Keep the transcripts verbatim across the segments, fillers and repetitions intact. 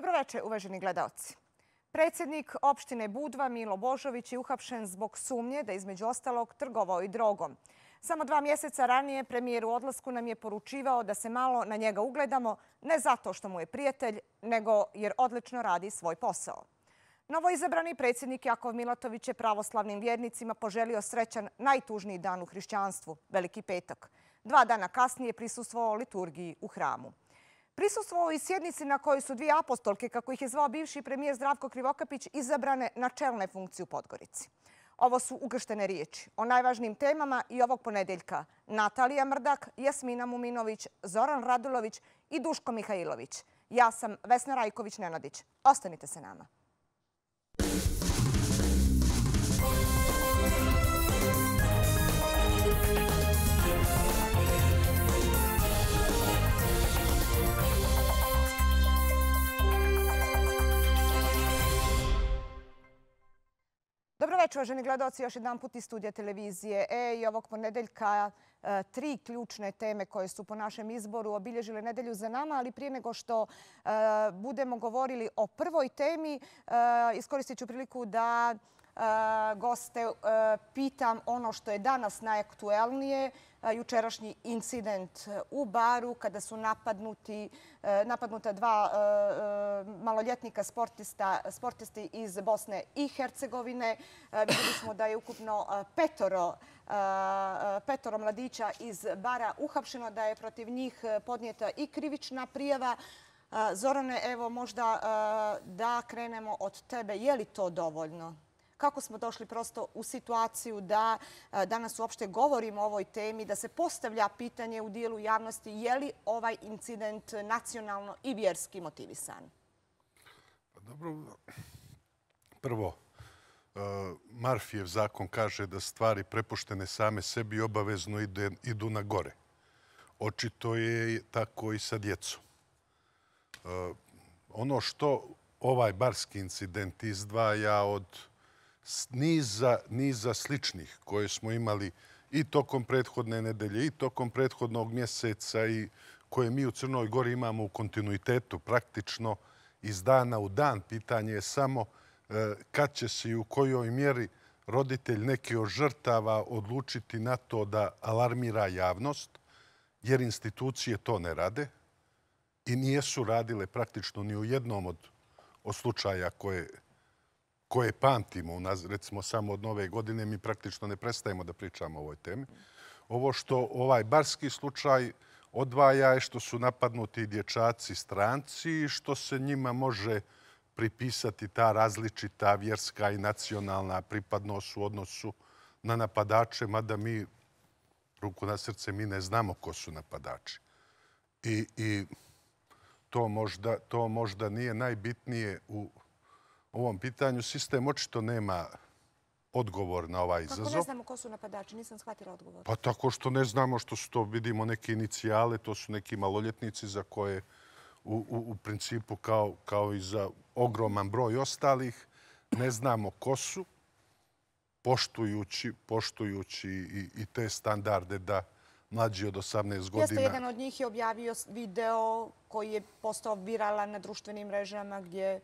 Dobroveče, uvaženi gledaoci. Predsjednik opštine Budva Milo Božović je uhapšen zbog sumnje da između ostalog trgovao i drogom. Samo dva mjeseca ranije premijer u odlasku nam je poručivao da se malo na njega ugledamo, ne zato što mu je prijatelj, nego jer odlično radi svoj posao. Novoizabrani predsjednik Jakov Milatović je pravoslavnim vjernicima poželio srećan najtužniji dan u hrišćanstvu, Veliki petak. Dva dana kasnije prisustvovao liturgiji u hramu. Prisustvovao i sjednici na kojoj su dvije apostolke, kako ih je zvao bivši premijer Zdravko Krivokapić, izabrane na čelne funkcije u Podgorici. Ovo su ukrštene riječi o najvažnijim temama i ovog ponedeljka. Natalija Mrdak, Jasmina Muminović, Zoran Radulović i Duško Mihajlović. Ja sam Vesna Rajković-Nenadić. Ostanite se nama. Dobroveče, uvaženi gledaoci, još jedan put iz studija televizije E i ovog ponedeljka tri ključne teme koje su po našem izboru obilježile nedelju za nama, ali prije nego što budemo govorili o prvoj temi, iskoristit ću priliku da goste pitam ono što je danas najaktuelnije. Jučerašnji incident u baru kada su napadnuti, napadnuta dva maloljetnika sportisti iz Bosne i Hercegovine. Vidjeli smo da je ukupno petoro, petoro mladića iz bara uhapšeno, da je protiv njih podnijeta i krivična prijava. Zorane, evo možda da krenemo od tebe. Je li to dovoljno? Kako smo došli prosto u situaciju da danas uopšte govorimo o ovoj temi, da se postavlja pitanje u dijelu javnosti je li ovaj incident nacionalno i vjerski motivisan? Dobro, prvo, Marfijev zakon kaže da stvari prepuštene same sebi obavezno idu na gore. Očito je tako i sa djecom. Ono što ovaj barski incident izdvaja od niza, niza sličnih koje smo imali i tokom prethodne nedelje i tokom prethodnog mjeseca i koje mi u Crnoj Gori imamo u kontinuitetu praktično iz dana u dan. Pitanje je samo kad će se i u kojoj mjeri roditelj neke od žrtava odlučiti na to da alarmira javnost, jer institucije to ne rade i nijesu radile praktično ni u jednom od, od slučaja koje koje pamtimo, recimo samo od nove godine, mi praktično ne prestajemo da pričamo o ovoj temi. Ovo što ovaj barski slučaj odvaja je što su napadnuti dječaci stranci i što se njima može pripisati ta različita vjerska i nacionalna pripadnost u odnosu na napadače, mada mi, ruku na srce, mi ne znamo ko su napadači. I, i to, možda, to možda nije najbitnije u ovom pitanju. Sistem očito nema odgovor na ovaj izazov. Kako ne znamo ko su napadači? Nisam shvatila odgovor. Pa tako što ne znamo, što su to, vidimo neke inicijale, to su neki maloljetnici za koje u, u, u principu kao, kao i za ogroman broj ostalih ne znamo ko su, poštujući, poštujući i, i te standarde da mlađi od osamnaest godina... Jeste, jedan od njih je objavio video koji je postao viralan na društvenim mrežama gdje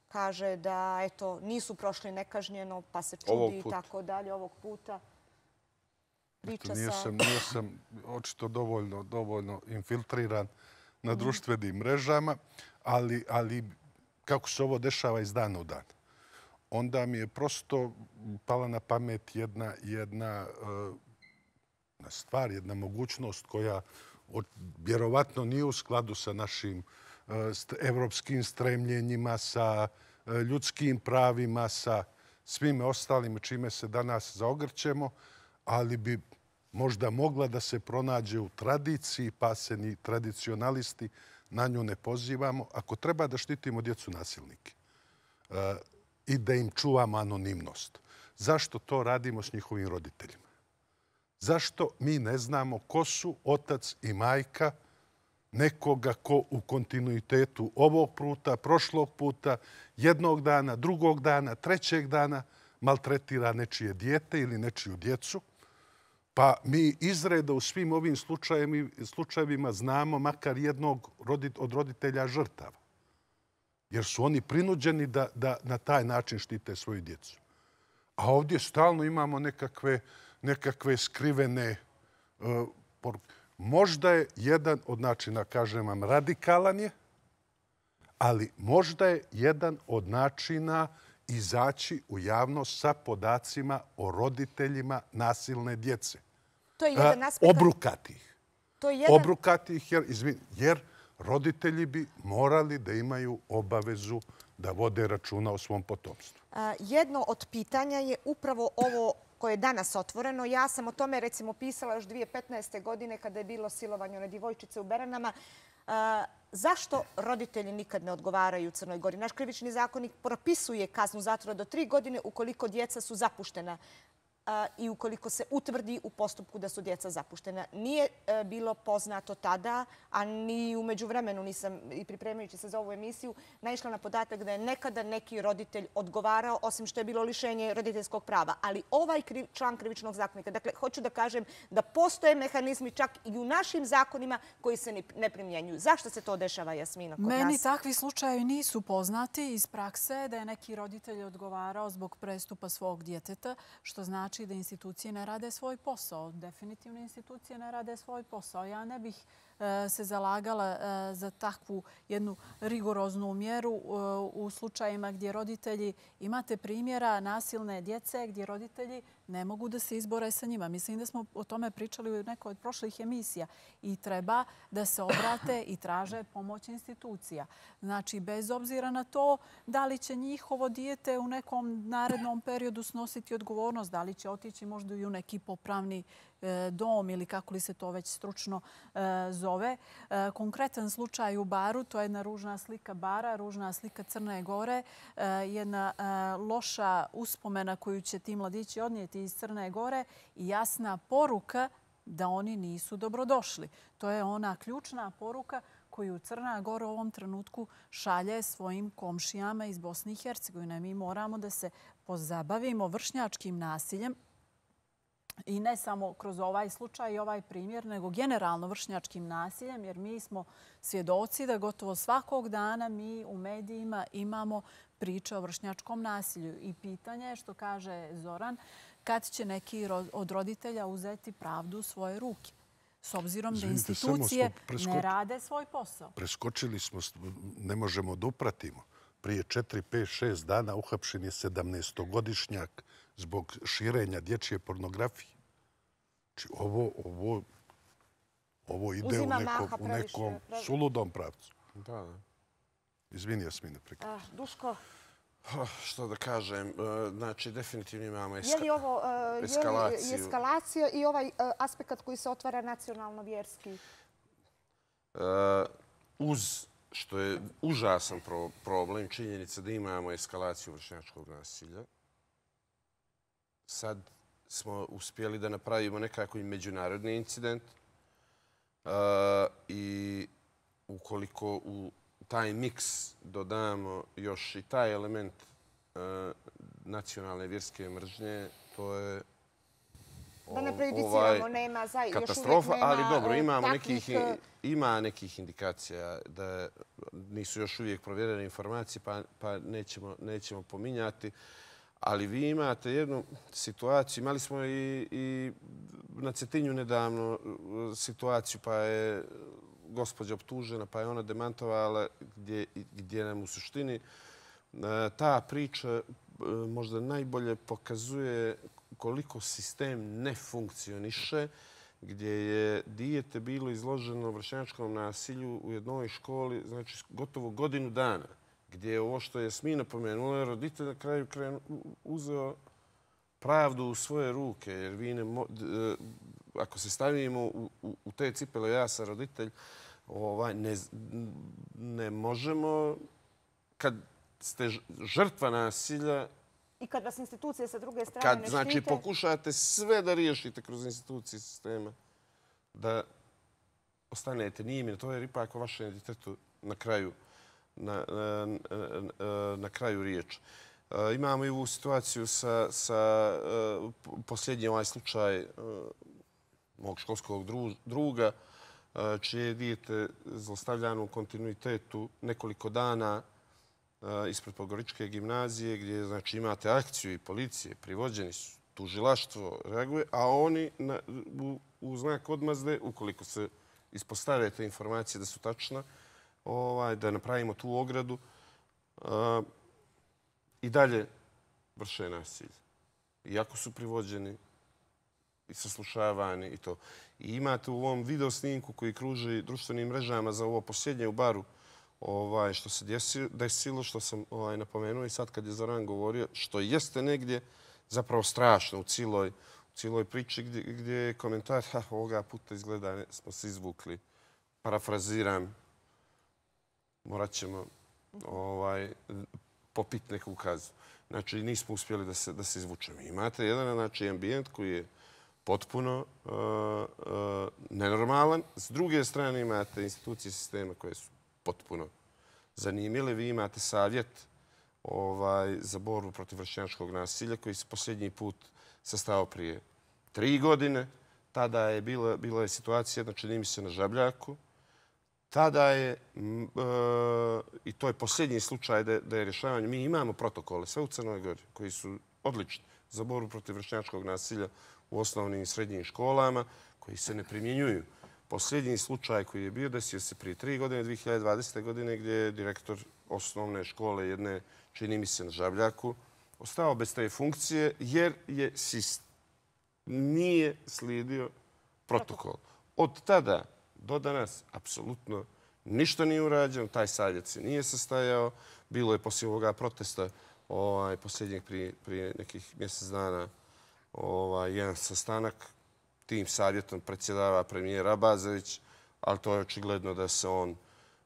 kaže da eto, nisu prošli nekažnjeno, pa se čudi i tako dalje ovog puta. Priča nije sa... sam, nije sam očito dovoljno, dovoljno infiltriran na društvenim mrežama, ali, ali kako se ovo dešava iz dana u dan. Onda mi je prosto pala na pamet jedna, jedna uh, stvar, jedna mogućnost koja od, vjerovatno nije u skladu sa našim evropskim stremljenjima, sa ljudskim pravima, sa svime ostalim čime se danas zaogrćemo, ali bi možda mogla da se pronađe u tradiciji, pa se ni tradicionalisti na nju ne pozivamo. Ako treba da štitimo djecu nasilnike i da im čuvamo anonimnost, zašto to radimo s njihovim roditeljima? Zašto mi ne znamo ko su otac i majka nekoga ko u kontinuitetu ovog puta, prošlog puta, jednog dana, drugog dana, trećeg dana maltretira nečije dijete ili nečiju djecu, pa mi izreda u svim ovim slučajevima znamo makar jednog od roditelja žrtava. jer su oni prinuđeni da, da na taj način štite svoju djecu. A ovdje stalno imamo nekakve, nekakve skrivene uh, poruke. Možda je jedan od načina, kažem vam, radikalan je, ali možda je jedan od načina izaći u javnost sa podacima o roditeljima nasilne djece. To je jedan aspekt... Obrukati ih. To je jedan... Obrukati ih jer, izvin, jer roditelji bi morali da imaju obavezu da vode računa o svom potomstvu. A, jedno od pitanja je upravo ovo koje je danas otvoreno. Ja sam o tome recimo pisala još dvije tisuće petnaeste. godine kada je bilo silovanje one djevojčice u Beranama. A, zašto roditelji nikad ne odgovaraju u Crnoj Gori? Naš krivični zakonik propisuje kaznu zatvora do tri godine ukoliko djeca su zapuštena i ukoliko se utvrdi u postupku da su djeca zapuštena. Nije bilo poznato tada, a ni u međuvremenu nisam, i pripremajući se za ovu emisiju, naišla na podatak da je nekada neki roditelj odgovarao, osim što je bilo lišenje roditeljskog prava. Ali ovaj član krivičnog zakonika, dakle, hoću da kažem da postoje mehanizmi čak i u našim zakonima koji se ne primjenjuju. Zašto se to dešava, Jasmina, kod nas? Meni takvi slučajevi nisu poznati iz prakse da je neki roditelj odgovarao zbog prestupa svog djeteta, što znači da institucije ne rade svoj posao. Definitivno institucije ne rade svoj posao. Ja ne bih se zalagala za takvu jednu rigoroznu mjeru u slučajima gdje roditelji, imate primjera nasilne djece gdje roditelji ne mogu da se izbore sa njima. Mislim da smo o tome pričali u nekoj od prošlih emisija i treba da se obrate i traže pomoć institucija. Znači, bez obzira na to da li će njihovo dijete u nekom narednom periodu snositi odgovornost, da li će otići možda i u neki popravni dom ili kako li se to već stručno zove. Konkretan slučaj u Baru, to je jedna ružna slika Bara, ružna slika Crne Gore, jedna loša uspomena koju će ti mladići odnijeti iz Crne Gore i jasna poruka da oni nisu dobrodošli. To je ona ključna poruka koju Crna Gora u ovom trenutku šalje svojim komšijama iz Bosne i Hercegovine. Mi moramo da se pozabavimo vršnjačkim nasiljem i ne samo kroz ovaj slučaj i ovaj primjer, nego generalno vršnjačkim nasiljem, jer mi smo svjedoci da gotovo svakog dana mi u medijima imamo priče o vršnjačkom nasilju. I pitanje je, što kaže Zoran, kad će neki od roditelja uzeti pravdu u svoje ruke, s obzirom da institucije ne rade svoj posao. Preskočili smo, ne možemo da upratimo. Prije četiri, pet, šest dana uhapšen je sedamnaestogodišnjak zbog širenja dječje pornografije. Znači, ovo, ovo, ovo ide u nekom, u nekom suludom pravcu. Da, da. Izvini, Jasmine, prekriču. Duško? Što da kažem, znači, definitivno imamo eskalaciju. Je li ovo je li eskalacija i ovaj aspekt koji se otvara nacionalno-vjerski? Uz što je užasan problem, činjenica da imamo eskalaciju vršnjačkog nasilja. Sad smo uspjeli da napravimo nekako i međunarodni incident i ukoliko u taj miks dodamo još i taj element nacionalne vjerske mržnje, to je da ne prejudiciramo, nema za katastrofa, ali dobro, imamo nekih, ima nekih indikacija da nisu još uvijek provjerene informacije, pa, pa nećemo, nećemo pominjati. Ali vi imate jednu situaciju, imali smo i, i na Cetinju nedavno situaciju, pa je gospođa optužena, pa je ona demantovala, gdje, gdje nam u suštini ta priča možda najbolje pokazuje koliko sistem ne funkcioniše, gdje je dijete bilo izloženo vršnjačkom nasilju u jednoj školi, znači gotovo godinu dana, gdje je ovo što je Jasmina pomenula, roditelj na kraju krenu, uzeo pravdu u svoje ruke. Jer vi ne mo, ako se stavimo u, u, u te cipele, ja sam roditelj, ovaj, ne, ne možemo, kad ste žrtva nasilja, i kad vas institucije sa druge strane kad, ne štite... Znači, pokušate sve da riješite kroz institucije sistema, da ostanete njime. To je ipak o vašem djetetu na kraju, na, na, na, na kraju riječ. Imamo i ovu situaciju sa, sa posljednji ovaj slučaj mog školskog druga, čije je dijete zlostavljano u kontinuitetu nekoliko dana ispred Podgoričke gimnazije gdje znači, imate akciju i policije, privođeni su, tužilaštvo reaguje, a oni na, u, u znak odmazde, ukoliko se ispostave te informacije da su tačne, ovaj, da napravimo tu ogradu, uh, i dalje vrše nasilje. Iako su privođeni i saslušavani i to. I imate u ovom video snimku koji kruži društvenim mrežama za ovo posljednje u baru ovaj, što se desilo, što sam ovaj, napomenuo i sad kad je Zoran govorio, što jeste negdje zapravo strašno u cijeloj, u cijeloj priči gdje, gdje je komentar ha, ovoga puta izgleda ne, smo se izvukli. Parafraziram, morat ćemo ovaj, popiti neku kazu. Znači, nismo uspjeli da se, da se izvučemo. Imate jedan znači, ambijent koji je potpuno uh, uh, nenormalan. S druge strane imate institucije sistema koje su potpuno zanimljive. Vi imate savjet ovaj, za borbu protiv vršnjačkog nasilja koji se posljednji put sastao prije tri godine. Tada je bila, bila je situacija, znači čini mi se na Žabljaku. Tada je, m, e, i to je posljednji slučaj da, da je rješavanje, mi imamo protokole sve u Crnoj Gori koji su odlični za borbu protiv vršnjačkog nasilja u osnovnim i srednjim školama koji se ne primjenjuju. Posljednji slučaj koji je bio desio se prije tri godine, dvije hiljade dvadesete. godine, gdje je direktor osnovne škole jedne, čini mi se na Žabljaku, ostao bez te funkcije jer je sistem nije slijedio protokol. Od tada do danas apsolutno ništa nije urađeno. Taj savjet se nije sastajao. Bilo je poslije ovoga protesta ovaj, posljednjeg prije, prije nekih mjesec dana ovaj, jedan sastanak. Tim savjetom predsjedava premijer Abazović, ali to je očigledno da se on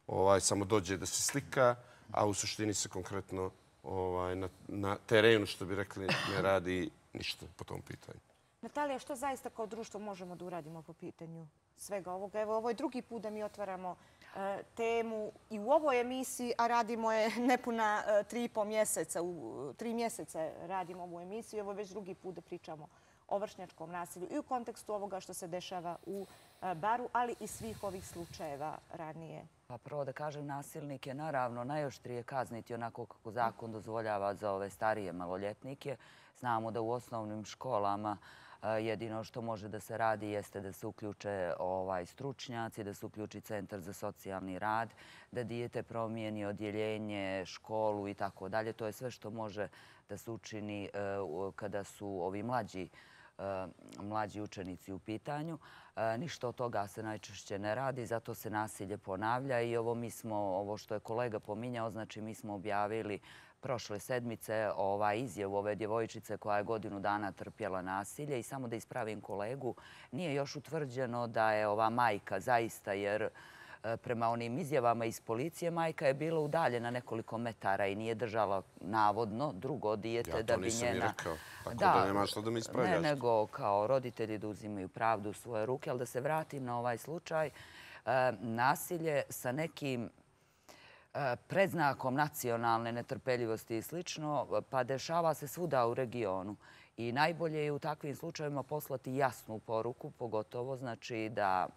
ovaj, samo dođe da se slika, a u suštini se konkretno ovaj, na, na terenu, što bi rekli, ne radi ništa po tom pitanju. Natalija, što zaista kao društvo možemo da uradimo po pitanju svega ovoga? Evo, ovo je drugi put da mi otvaramo e, temu i u ovoj emisiji, a radimo je nepuna e, tri i po mjeseca. U tri mjeseca radimo ovu emisiju. Evo je već drugi put da pričamo o vršnjačkom nasilju i u kontekstu ovoga što se dešava u e, baru, ali i svih ovih slučajeva ranije. Pa prvo da kažem, nasilnik je naravno najoštrije kazniti onako kako zakon dozvoljava za ove starije maloljetnike. Znamo da u osnovnim školama jedino što može da se radi jeste da se uključe ovaj, stručnjaci, da se uključi centar za socijalni rad, da dijete promijeni odjeljenje, školu i tako dalje. To je sve što može da se učini kada su ovi mlađi, mlađi učenici u pitanju. Ništa od toga se najčešće ne radi, zato se nasilje ponavlja i ovo mi smo, ovo što je kolega pominjao, znači mi smo objavili prošle sedmice ovaj izjavu ove djevojčice koja je godinu dana trpjela nasilje i samo da ispravim kolegu, nije još utvrđeno da je ova majka zaista, jer prema onim izjavama iz policije majka je bila udaljena nekoliko metara i nije držala navodno drugo dijete da bi njena... Ja to nisam ni rekao, tako da, da nema što da mi ispravljaš. Ne, nego kao roditelji da uzimaju pravdu u svoje ruke, ali da se vratim na ovaj slučaj. Nasilje sa nekim predznakom nacionalne netrpeljivosti i slično, pa dešava se svuda u regionu. I najbolje je u takvim slučajevima poslati jasnu poruku, pogotovo znači da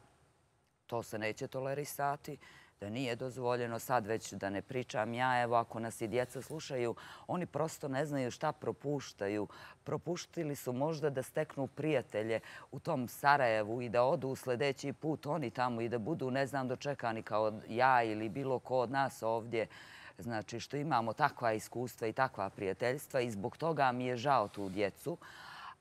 to se neće tolerisati, da nije dozvoljeno. Sad već da ne pričam ja, evo ako nas i djeca slušaju, oni prosto ne znaju šta propuštaju. Propuštili su možda da steknu prijatelje u tom Sarajevu i da odu sljedeći put oni tamo i da budu, ne znam, dočekani kao ja ili bilo ko od nas ovdje. Znači što imamo takva iskustva i takva prijateljstva i zbog toga mi je žao tu djecu.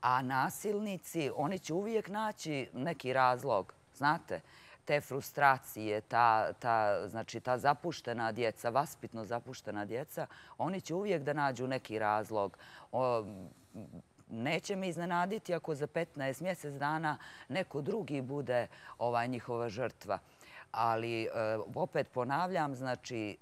A nasilnici, oni će uvijek naći neki razlog, znate, te frustracije, ta, ta, znači, ta zapuštena djeca, vaspitno zapuštena djeca, oni će uvijek da nađu neki razlog. O, neće me iznenaditi ako za petnaest mjesec dana neko drugi bude ovaj, njihova žrtva. Ali opet ponavljam, znači,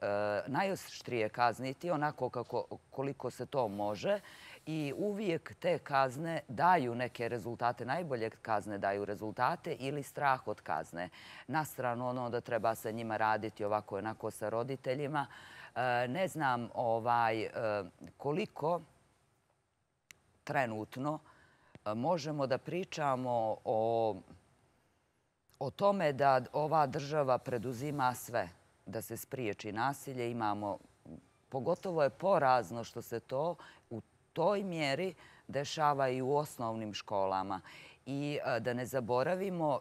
najoštrije kazniti onako kako, koliko se to može i uvijek te kazne daju neke rezultate. Najbolje kazne daju rezultate ili strah od kazne. Na stranu ono da treba se njima raditi ovako onako sa roditeljima. Ne znam ovaj, koliko trenutno možemo da pričamo o o tome da ova država preduzima sve da se spriječi nasilje. Imamo Pogotovo je porazno što se to u toj mjeri dešava i u osnovnim školama. I da ne zaboravimo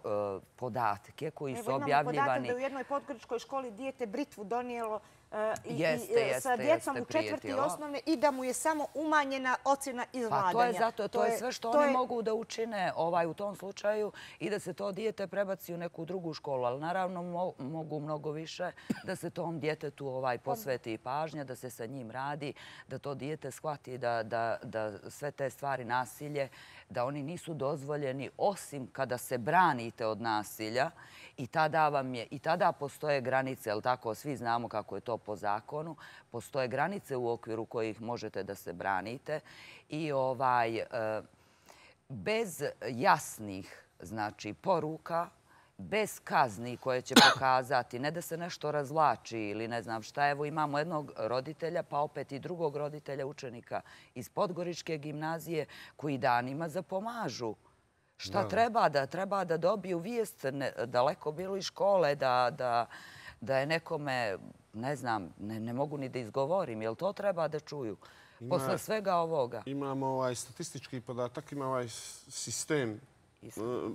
podatke koji su objavljivani. Imamo podatak da u jednoj podgoričkoj školi dijete britvu donijelo sa djecom u četvrti osnovne i da mu je samo umanjena ocjena izvladanja. Pa to je zato, to je sve što oni mogu da učine u tom slučaju i da se to dijete prebaci u neku drugu školu. Ali naravno mogu mnogo više da se tom djetetu posveti i pažnja, da se sa njim radi, da to dijete shvati da sve te stvari nasilje, da oni nisu dozvoljeni osim kada se branite od nasilja i tada vam je, i tada postoje granice, jel tako, svi znamo kako je to po zakonu, postoje granice u okviru kojih možete da se branite i ovaj, bez jasnih, znači, poruka, bez kazni koje će pokazati, ne da se nešto razvlači ili ne znam šta. Evo imamo jednog roditelja, pa opet i drugog roditelja učenika iz Podgoričke gimnazije koji danima zapomažu. Šta treba da treba da dobiju vijest daleko bilo iz škole, da je nekome, ne znam, ne mogu ni da izgovorim, jel to treba da čuju? Posle svega ovoga. Imamo ovaj statistički podatak, ima ovaj sistem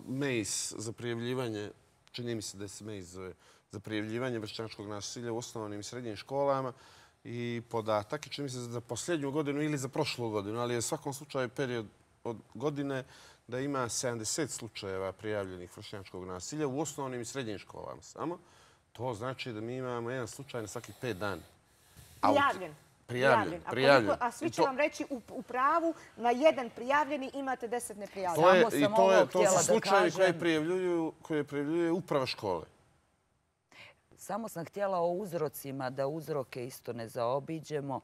M E I S za prijavljivanje, čini mi se da se M E I S zove, za prijavljivanje vršnjačkog nasilja u osnovnim i srednjim školama i podatak, čini mi se za posljednju godinu ili za prošlu godinu, ali je u svakom slučaju period od godine da ima sedamdeset slučajeva prijavljenih vršnjačkog nasilja u osnovnim i srednjim školama samo. To znači da mi imamo jedan slučaj na svakih pet dana. Prijavljen. Prijavljen, prijavljen. A svi će vam reći u pravu, na jedan prijavljeni imate deset neprijavljeni. I to su slučajevi koje prijavljuje uprava škole. Samo sam htjela o uzrocima, da uzroke isto ne zaobiđemo.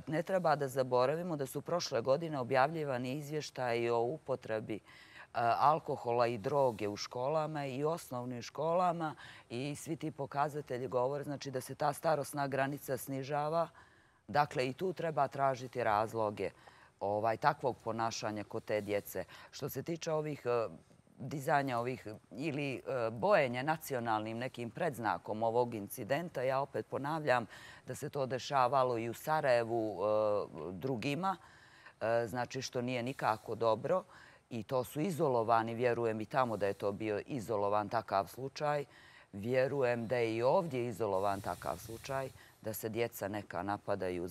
Ne treba da zaboravimo da su prošle godine objavljivani izvještaji o upotrebi alkohola i droge u školama i osnovnim školama i svi ti pokazatelji govore znači da se ta starosna granica snižava. Dakle, i tu treba tražiti razloge takvog ponašanja kod te djece. Što se tiče ovih dizanja ovih ili bojenja nacionalnim nekim predznakom ovog incidenta, ja opet ponavljam da se to dešavalo i u Sarajevu drugima, znači što nije nikako dobro i to su izolovani, vjerujem i tamo da je to bio izolovan takav slučaj, vjerujem da je i ovdje izolovan takav slučaj, da se djeca neka napadaju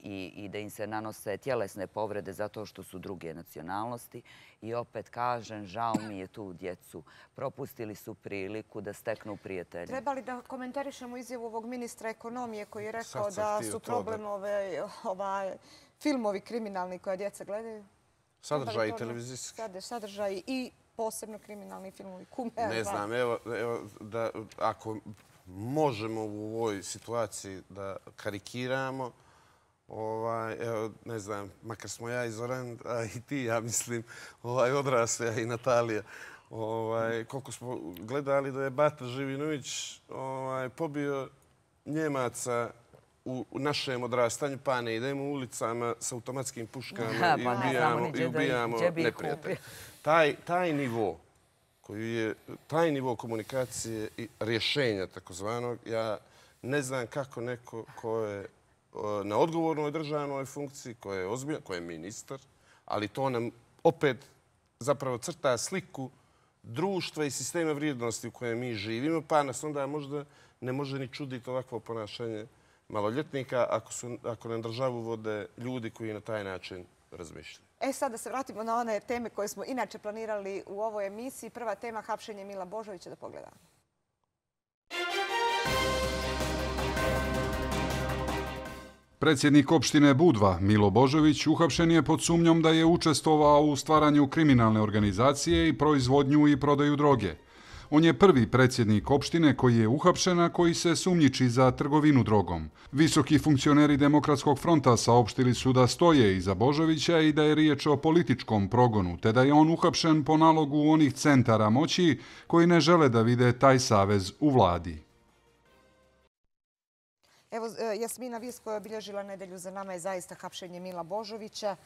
i da im se nanose tjelesne povrede zato što su druge nacionalnosti. I opet kažem, žao mi je tu djecu. Propustili su priliku da steknu prijatelje. Treba li da komentarišemo izjavu ovog ministra ekonomije koji je rekao da su problem filmovi kriminalni koje djeca gledaju? Sadržaji televizijski. Sadržaji i posebno kriminalni filmovi. Ne znam, evo, ako možemo u ovoj situaciji da karikiramo, ne znam, makar smo ja i Zoran, a i ti, ja mislim, odrasli, a i Natalija, koliko smo gledali da je Bata Živinović pobio Njemaca u našem odrastanju, pa ne idemo ulicama s automatskim puškama i ubijamo neprijatelja. Taj nivo koji je taj nivo komunikacije i rješenja takozvanog, ja ne znam kako neko ko je na odgovornoj državnoj funkciji, ko je ozbiljan, ko je ministar, ali to nam opet zapravo crta sliku društva i sistema vrijednosti u kojem mi živimo, pa nas onda možda ne može ni čuditi ovakvo ponašanje maloljetnika ako nam državu vode ljudi koji na taj način razmišljaju. E sad da se vratimo na one teme koje smo inače planirali u ovoj emisiji. Prva tema, hapšenje Mila Božovića, da pogledamo. Predsjednik opštine Budva Milo Božović uhapšen je pod sumnjom da je učestvovao u stvaranju kriminalne organizacije i proizvodnju i prodaju droge. On je prvi predsjednik opštine koji je uhapšen, a koji se sumnjiči za trgovinu drogom. Visoki funkcioneri Demokratskog fronta saopštili su da stoje iza Božovića i da je riječ o političkom progonu, te da je on uhapšen po nalogu onih centara moći koji ne žele da vide taj savez u vladi. Evo, Jasmina, vijest koja je obilježila nedelju za nama je zaista hapšenje Mila Božovića.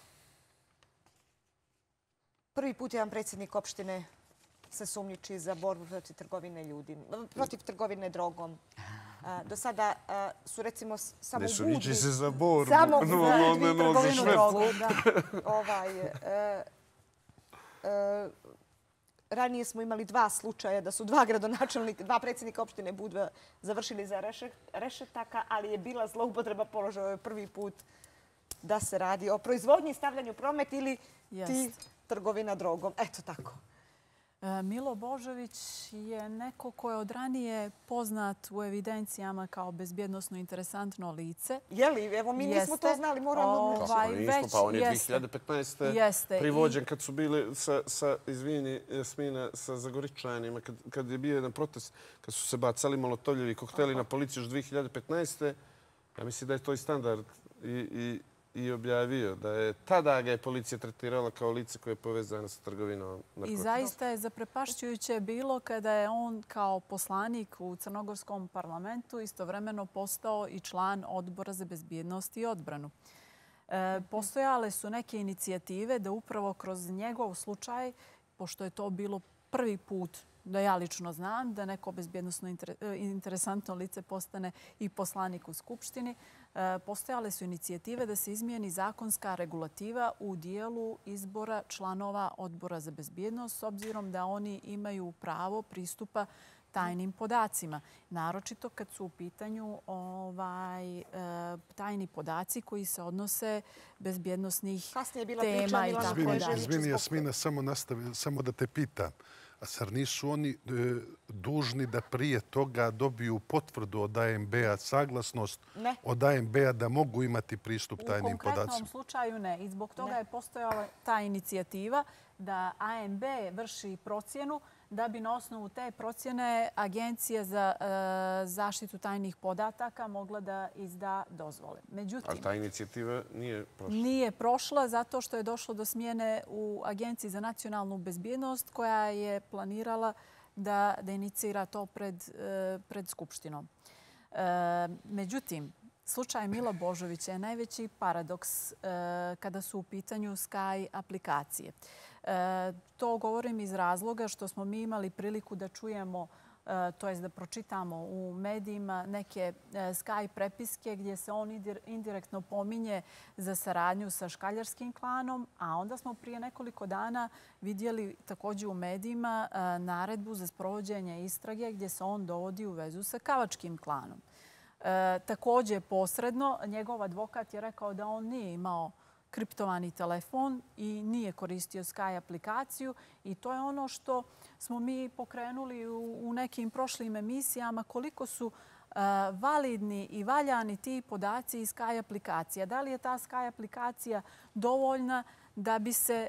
Prvi put jedan predsjednik opštine se sumnjiči za borbu protiv trgovine ljudima, protiv trgovine drogom. Do sada su recimo samo u Budvi... Budvi... Ne suniči se za borbu. Samo u Budvi trgovinu drogom. Ranije smo imali dva slučaja da su dva gradonačelnika, dva predsjednika opštine Budva završili za rešetaka, ali je bila zloupotreba položaja prvi put da se radi o proizvodnji, stavljanju promet ili ti trgovina drogom. Eto tako. Milo Božović je neko ko je od ranije poznat u evidencijama kao bezbjednosno interesantno lice. Je li? Evo, mi nismo to znali, moramo... Kako nismo? Pa on je dvije hiljade petnaeste. privođen kad su bili sa, izvini, Jasmina, sa Zagoričanima, kad je bio jedan protest, kad su se bacali molotovljevi kokteli na policiju još dvije hiljade petnaeste. Ja mislim da je to i standard i i objavio da je tada ga je policija tretirala kao lice koje je povezano sa trgovinom narkotika. I zaista je zaprepašćujuće bilo kada je on kao poslanik u Crnogorskom parlamentu istovremeno postao i član Odbora za bezbjednost i odbranu. Postojale su neke inicijative da upravo kroz njegov slučaj, pošto je to bilo prvi put da ja lično znam da neko bezbjednosno interesantno lice postane i poslanik u Skupštini, postojale su inicijative da se izmijeni zakonska regulativa u dijelu izbora članova Odbora za bezbjednost s obzirom da oni imaju pravo pristupa tajnim podacima. Naročito kad su u pitanju tajni podaci koji se odnose bezbjednosnih tema i tako dalje. Izvini, Jasmina, samo da te pitam. A zar nisu oni dužni da prije toga dobiju potvrdu od A M B-a, saglasnost od A M B-a da mogu imati pristup tajnim podacima? U konkretnom slučaju ne. I zbog toga je postojala ta inicijativa da A M B vrši procjenu da bi na osnovu te procjene Agencija za zaštitu tajnih podataka mogla da izda dozvole. Ali ta inicijativa nije prošla? Nije prošla zato što je došlo do smjene u Agenciji za nacionalnu bezbjednost koja je planirala da inicira to pred Skupštinom. Međutim, slučaj Mila Božovića je najveći paradoks kada su u pitanju Sky aplikacije. To govorim iz razloga što smo mi imali priliku da čujemo, to jest da pročitamo u medijima neke Sky prepiske gdje se on indirektno pominje za saradnju sa škaljarskim klanom, a onda smo prije nekoliko dana vidjeli također u medijima naredbu za sprovođenje istrage gdje se on dovodi u vezu sa kavačkim klanom. Također posredno, njegov advokat je rekao da on nije imao kriptovani telefon i nije koristio Sky aplikaciju i to je ono što smo mi pokrenuli u nekim prošlim emisijama, koliko su validni i valjani ti podaci iz Sky aplikacija. Da li je ta Sky aplikacija dovoljna da bi se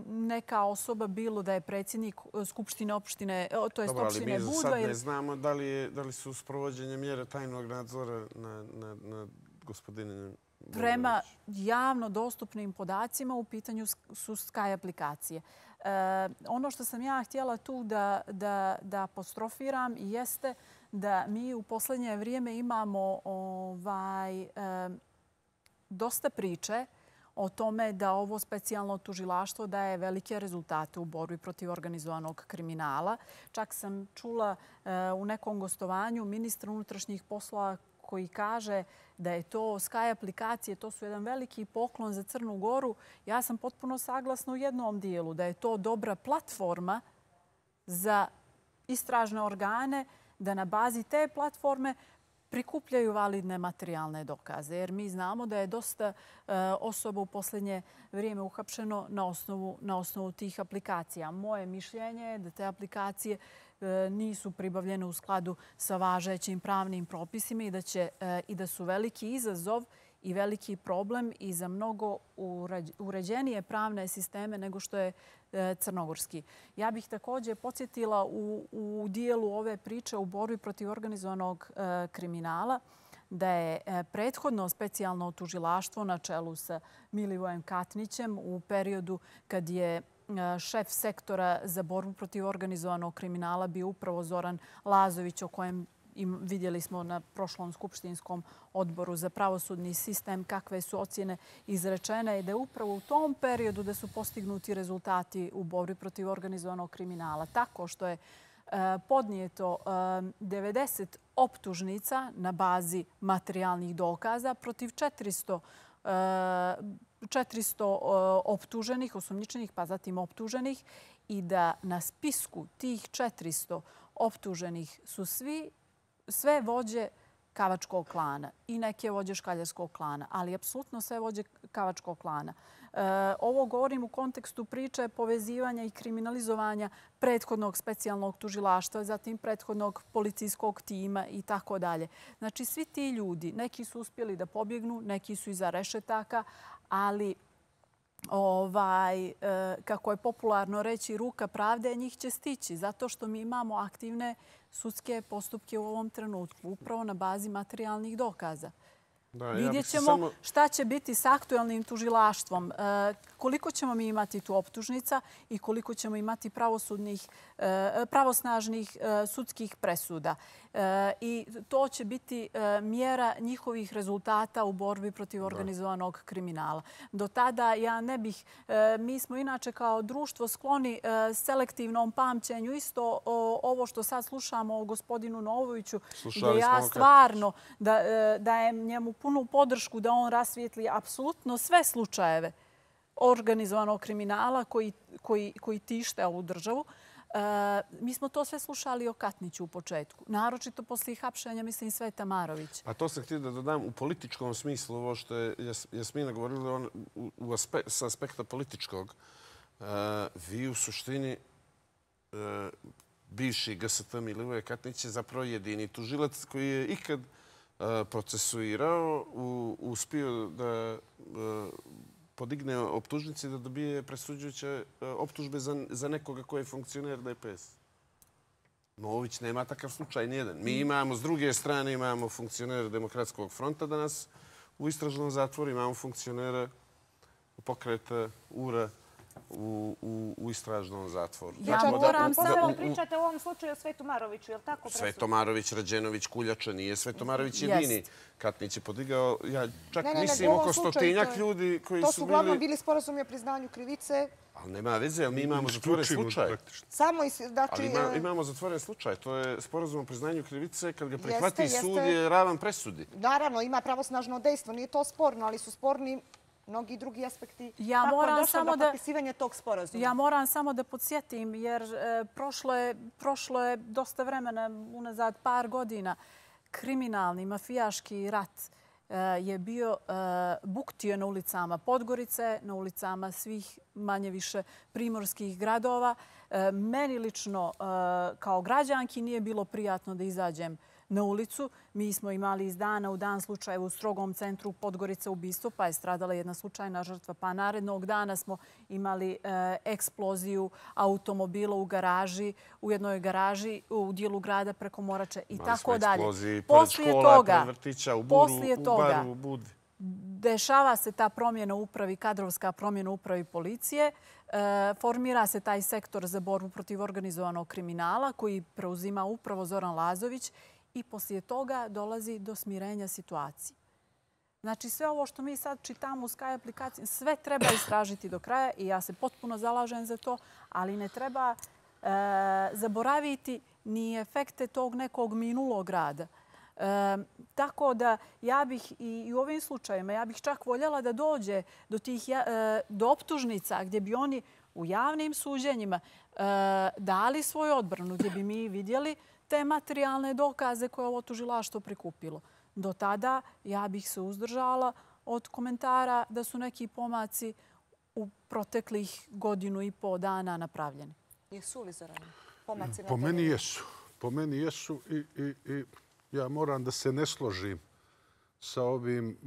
neka osoba, bilo da je predsjednik Skupštine opštine, to je opštine Budva... Dobro, ali mi sad ne znamo da li su sprovođenje mjere tajnog nadzora na gospodine... Prema javno dostupnim podacima u pitanju su Sky aplikacije. Ono što sam ja htjela tu da apostrofiram jeste da mi u posljednje vrijeme imamo dosta priče o tome da ovo specijalno tužilaštvo daje velike rezultate u borbi protiv organizovanog kriminala. Čak sam čula u nekom gostovanju ministra unutrašnjih poslova koji kaže da je to Sky aplikacije, to su jedan veliki poklon za Crnu Goru. Ja sam potpuno saglasna u jednom dijelu da je to dobra platforma za istražne organe da na bazi te platforme prikupljaju validne materijalne dokaze. Jer mi znamo da je dosta osoba u posljednje vrijeme uhapšeno na osnovu tih aplikacija. Moje mišljenje je da te aplikacije nisu pribavljene u skladu sa važećim pravnim propisima i da su veliki izazov i veliki problem i za mnogo uređenije pravne sisteme nego što je crnogorski. Ja bih također podsjetila u dijelu ove priče u borbi protiv organizovanog kriminala da je prethodno specijalno tužilaštvo na čelu sa Milivojem Katnićem u periodu kad je šef sektora za borbu protiv organizovanog kriminala bio upravo Zoran Lazović, o kojem vidjeli smo na prošlom skupštinskom odboru za pravosudni sistem kakve su ocjene izrečene i da je upravo u tom periodu da su postignuti rezultati u borbi protiv organizovanog kriminala. Tako što je podnijeto devedeset optužnica na bazi materijalnih dokaza protiv četiristo četiristo optuženih, osumnjičenih, pa zatim optuženih, i da na spisku tih četiristo optuženih su svi, sve vođe Kavačkog klana i neke vođe Škaljarskog klana, ali apsolutno sve vođe Kavačkog klana. Ovo govorim u kontekstu priče povezivanja i kriminalizovanja prethodnog specijalnog tužilaštva, zatim prethodnog policijskog tima i tako dalje. Znači, svi ti ljudi, neki su uspjeli da pobjegnu, neki su iza rešetaka, ali ovaj, kako je popularno reći, ruka pravde njih će stići, zato što mi imamo aktivne sudske postupke u ovom trenutku, upravo na bazi materijalnih dokaza. Vidjet ćemo šta će biti s aktuelnim tužilaštvom, koliko ćemo mi imati tu optužnica i koliko ćemo imati pravosnažnih sudskih presuda. I to će biti mjera njihovih rezultata u borbi protiv organizovanog kriminala. Do tada ja ne bih, mi smo inače kao društvo skloni selektivnom pamćenju. Isto ovo što sad slušamo o gospodinu Novoviću, gdje ja stvarno dajem njemu punu podršku da on rasvijetli apsolutno sve slučajeve organizovanog kriminala koji tište ovu državu. Mi smo to sve slušali o Katniću u početku. Naročito poslije hapšenja, mislim, Sveta Marović. A to sam htio da dodam u političkom smislu, ovo što je Jasmina govorila s aspekta političkog. Vi u suštini, bivši G S T Milivoje Katnić je zapravo jedini tužilac koji je ikad procesuirao, uspio da podigne optužnici da dobije presuđujuće optužbe za nekoga koji je funkcioner D P S. Novović nema takav slučaj nijedan. Mi imamo, s druge strane, imamo funkcionera Demokratskog fronta danas u istražnom zatvoru, imamo funkcionera pokreta U R A u istražnom zatvoru. Ja moram samo... Pričate u ovom slučaju o Svetu Maroviću, je li tako? Sveto Marović, Rađenović, Kuljača, nije Sveto Marović jedini. Katnić je podigao, ja čak mislim, oko stotinjak ljudi koji su bili... To su uglavnom bili sporazumi o priznanju krivice. Ali nema veze, ali mi imamo zatvoren slučaj. Samo, znači... Ali imamo zatvoren slučaj. To je sporazum o priznanju krivice. Kad ga prihvati sud je ravan presudi. Naravno, ima pravosnažno dejstvo. Nije to sporno, ali su sporni mnogi drugi aspekti. Ja moram samo da potpisivanje tog sporazuma. Ja moram samo da podsjetim, jer prošlo je dosta vremena, unazad par godina, kriminalni, mafijaški rat je bio buktio na ulicama Podgorice, na ulicama svih manje više primorskih gradova. Meni lično kao građanki nije bilo prijatno da izađem na ulicu. Mi smo imali iz dana u dan slučaje u strogom centru Podgorice ubistvo, pa je stradala jedna slučajna žrtva. Pa narednog dana smo imali eksploziju automobila u garaži, u jednoj garaži u dijelu grada preko Morače i tako dalje. Poslije toga, poslije toga, dešava se ta promjena u upravi, kadrovska promjena u upravi policije. Formira se taj sektor za borbu protiv organizovanog kriminala koji preuzima upravo Zoran Lazović. I poslije toga dolazi do smirenja situacije. Znači, sve ovo što mi sad čitamo u Sky aplikaciji, sve treba istražiti do kraja i ja se potpuno zalažem za to, ali ne treba zaboraviti ni efekte tog nekog minulog rada. Tako da ja bih i u ovim slučajima, ja bih čak voljela da dođe do tih do optužnica gdje bi oni u javnim suđenjima dali svoju odbranu, gdje bi mi vidjeli te materijalne dokaze koje ovo tužilaštvo prikupilo. Do tada ja bih se uzdržala od komentara da su neki pomaci u proteklih godinu i po dana napravljeni. Jesu li, Zorane, pomaci? Po meni jesu. Po meni jesu i ja moram da se ne složim sa ovim,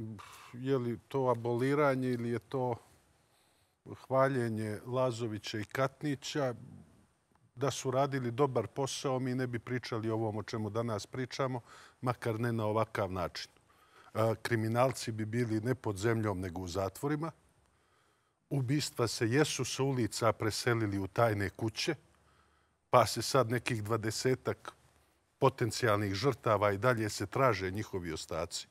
je li to aboliranje ili je to hvaljenje Lazovića i Katnića. Da su radili dobar posao, mi ne bi pričali o ovom o čemu danas pričamo, makar ne na ovakav način. Kriminalci bi bili ne pod zemljom, nego u zatvorima. Ubistva se jesu sa ulica preselili u tajne kuće, pa se sad nekih dvadesetak potencijalnih žrtava i dalje se traže njihovi ostaci.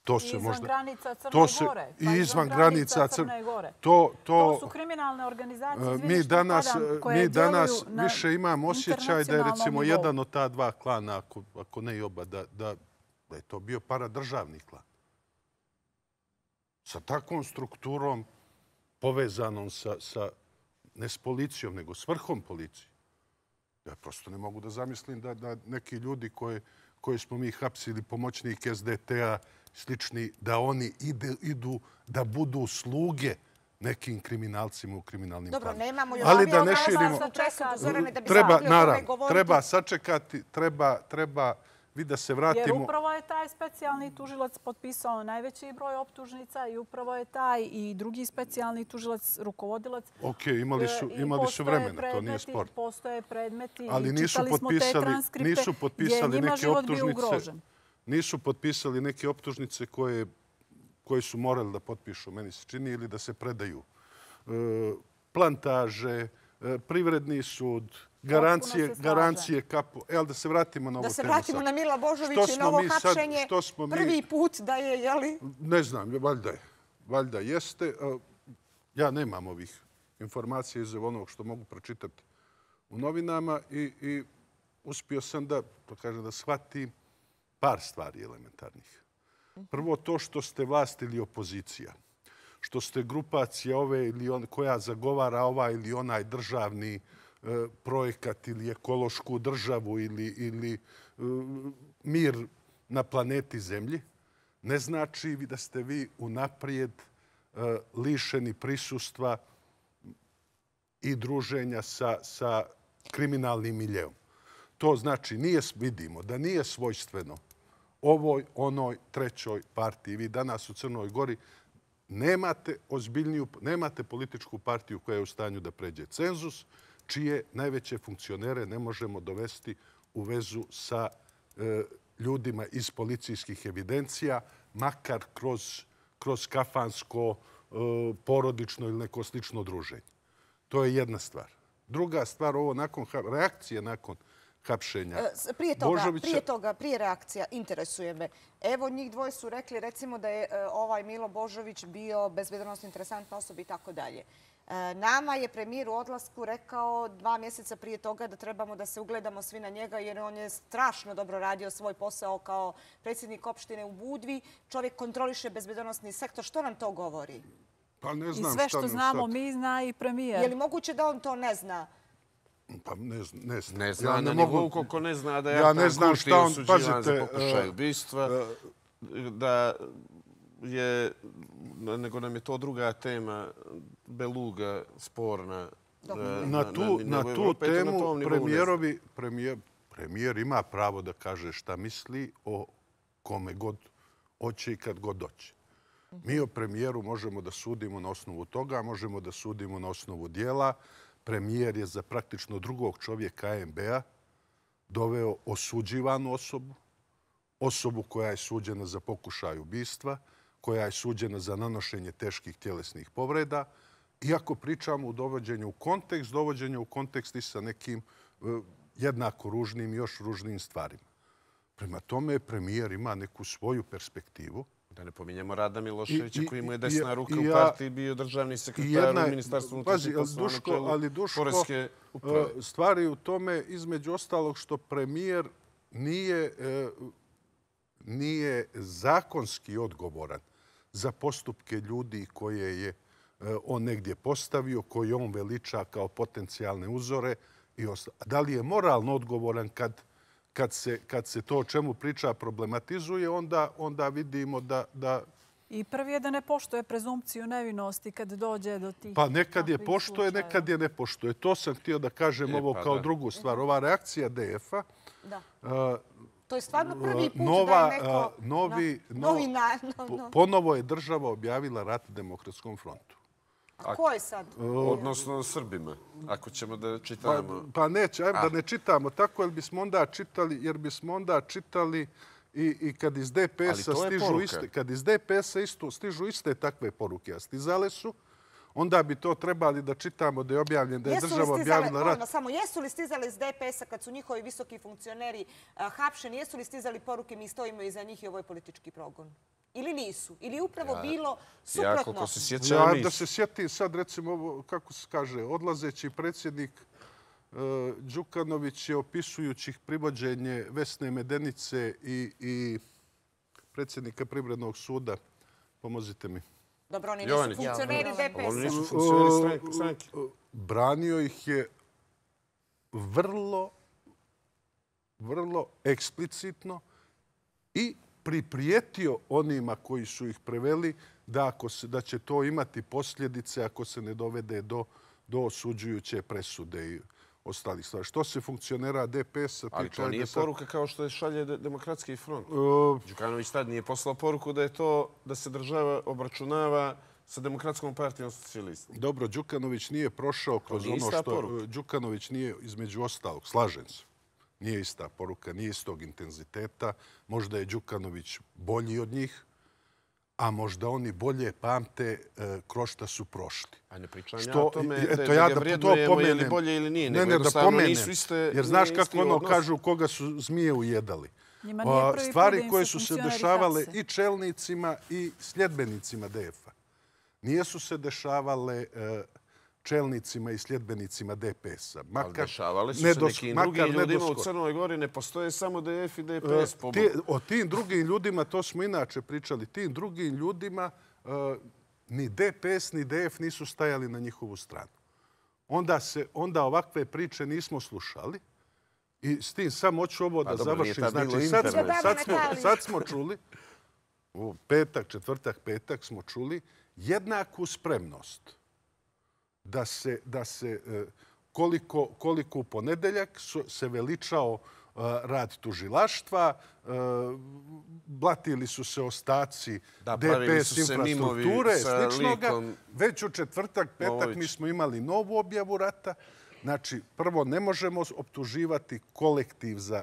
To se izvan možda, granica Crne to se, Gore. I izvan granica Crne Gore. To, to, to su kriminalne organizacije, izvini mi što danas, padam, koje mi danas djeluju više imamo osjećaj da je recimo nivou. jedan od ta dva klana, ako, ako ne i oba, da, da, da je to bio paradržavni klan. Sa takvom strukturom povezanom sa, sa ne s policijom, nego s vrhom policije. Ja prosto ne mogu da zamislim da, da neki ljudi koje, koje smo mi hapsili, pomoćnik S D T-a, slični, da oni ide, idu da budu sluge nekim kriminalcima u kriminalnim Dobro, planovima. nemamo još ali da ne širimo, treba, naravno, treba sačekati, treba, treba vi da se vratimo. Jer upravo je taj specijalni tužilac potpisao najveći broj optužnica i upravo je taj i drugi specijalni tužilac, rukovodilac. Ok, imali su, imali su vremena, to nije sport. Postoje predmeti ali i nisu čitali smo te transkripte nisu potpisali njima neke život bio optužnice. ugrožen. Nisu potpisali neke optužnice koje, koje su morali da potpišu, meni se čini, ili da se predaju. E, plantaže, e, privredni sud, garancije, garancije kapo. Evo da se vratimo na ovo temu. Da se vratimo sad na Mila Božovića i na ovo hapšenje. Prvi put da je, jeli? Ne znam, valjda je. Valjda jeste. Ja nemam ovih informacija iz onog što mogu pročitati u novinama i, i uspio sam da, to kažem, da shvatim par stvari elementarnih. Prvo to što ste vlast ili opozicija. Što ste grupacija ove ili on, koja zagovara ovaj ili onaj državni projekat ili ekološku državu ili, ili mir na planeti Zemlji, ne znači da ste vi unaprijed lišeni prisustva i druženja sa, sa kriminalnim miljeom. To znači, nije, vidimo da nije svojstveno ovoj, onoj, trećoj partiji. Vi danas u Crnoj Gori nemate ozbiljniju, nemate političku partiju koja je u stanju da pređe cenzus, čije najveće funkcionere ne možemo dovesti u vezu sa e, ljudima iz policijskih evidencija, makar kroz, kroz kafansko, e, porodično ili neko slično druženje. To je jedna stvar. Druga stvar, ovo nakon reakcije nakon hapšenja Prije toga, Božovića... prije toga, prije reakcija, interesuje me. Evo, njih dvoje su rekli, recimo, da je ovaj Milo Božović bio bezbednosno interesantna osoba i tako dalje. Nama je premijer u odlasku rekao dva mjeseca prije toga da trebamo da se ugledamo svi na njega jer on je strašno dobro radio svoj posao kao predsjednik opštine u Budvi. Čovjek kontroliše bezbednosni sektor. Što nam to govori? Pa ne znam. I sve što znamo mi zna i premijer. Je li moguće da on to ne zna? Pa ne, ne zna. Ne zna ja ne na mogu, nivou koliko ne zna da je ja ne znam šta on, osuđivan za pokušaj ubistva, da je, nego nam je to druga tema, beluga sporna. Na tu, na, na tu temu na premijerovi, premijer, premijer ima pravo da kaže šta misli o kome god hoće i kad god doće. Mi o premijeru možemo da sudimo na osnovu toga, možemo da sudimo na osnovu dijela. Premijer je za praktično drugog čovjeka A M B-a doveo osuđivanu osobu, osobu koja je suđena za pokušaj ubistva, koja je suđena za nanošenje teških tjelesnih povreda. Iako pričamo u dovođenju u kontekst, dovođenju u kontekst i sa nekim jednako ružnim i još ružnim stvarima. Prema tome, premijer ima neku svoju perspektivu. Da ne pominjemo Rada Miloševića, koji mu je desna ruka u partiji, bio državni sekretar u Ministarstvu unutrašnjih poslova na čelu ali Duško, poreske uprave. Stvari u tome, između ostalog, što premijer nije, nije zakonski odgovoran za postupke ljudi koje je on negdje postavio, koje on veliča kao potencijalne uzore. I da li je moralno odgovoran kad Kad se, kad se to o čemu priča problematizuje, onda, onda vidimo da, da... I prvi je da ne poštuje prezumpciju nevinosti kad dođe do tih... Pa nekad je poštuje, nekad je ne poštuje. To sam htio da kažem ovo kao drugu stvar. Ova reakcija D F-a... Da. To je stvarno prvi put nova, da je neko... Novi, novi na, no, no. Ponovo je država objavila rat Demokratskom frontu. A ko je sad? Odnosno Srbima, ako ćemo da čitamo. Pa, pa neće, ajmo da ne čitamo tako, jer bismo onda čitali, jer bismo onda čitali i, i kad iz D P S-a stižu iste, kad iz D P S-a isto stižu iste takve poruke, a stizale su, onda bi to trebali da čitamo da je objavljen, da je država objavila rat. Samo jesu li stizali iz D P S-a kad su njihovi visoki funkcioneri hapšeni, jesu li stizali poruke mi stojimo iza njih i ovo je politički progon? ili nisu? Ili je upravo bilo Ja suprotno? koliko se sjećam, Ja, nisu. da se sjetim sad, recimo, ovo, kako se kaže, odlazeći predsjednik e, Đukanović je opisujući privođenje Vesne Medenice i, i predsjednika Privrednog suda. Pomozite mi. Dobro, oni nisu Jovanić. funkcioneri D P Oni nisu S-a. funkcioneri stranke- stranke. Branio ih je vrlo, vrlo eksplicitno i priprijetio onima koji su ih preveli da, ako se, da će to imati posljedice ako se ne dovede do, do osuđujuće presude i ostalih stvari. Što se funkcionera D P S-a Ali tiče... to nije ajde sad- poruka kao što je šalje De- Demokratski front. E, Đukanović tad nije poslao poruku da je to da se država obračunava sa Demokratskom partijom socijalista. Dobro, Đukanović nije prošao kroz nije ono ista što... poruka. Đukanović nije, između ostalog, slažem se. Nije ista poruka, nije istog intenziteta. Možda je Đukanović bolji od njih, a možda oni bolje pamte e, kroz šta su prošli. A ne pričam ja Što- o tome eto, da, da ja ga da to vrednujemo je li pomenem. bolje ili nije. Ne, nego ne, da jednostavno pomenem. nisu iste, Jer znaš nije kako isti ono odnos. kažu koga su zmije ujedali. Njima nije A, prvi put stvari da im koje se su se funkcioneri dešavale hapse. i čelnicima i sljedbenicima D F-a. Nijesu se dešavale e, čelnicima i sljedbenicima D P S-a. Ali dešavali su ne se dos- nekim makar drugim ne ljudima u doskoro. Crnoj Gori. Ne postoje samo D F i D P S. E, po ti- O tim drugim ljudima, to smo inače pričali, tim drugim ljudima e, ni D P S ni D F nisu stajali na njihovu stranu. Onda, se, onda ovakve priče nismo slušali. I s tim samo hoću ovo da dobro, nije završim. tad bilo Znači, sad, smo, interneta. sad, smo, sad smo čuli, u petak, četvrtak, petak smo čuli jednaku spremnost da se, da se e, koliko, koliko u ponedeljak su, se veličao e, rad tužilaštva, e, blatili su se ostaci Da, D P pravili S su se mimovi infrastrukture, sa sličnoga. likom Već u četvrtak, petak Momović. mi smo imali novu objavu rata. Znači, prvo, ne možemo optuživati kolektiv za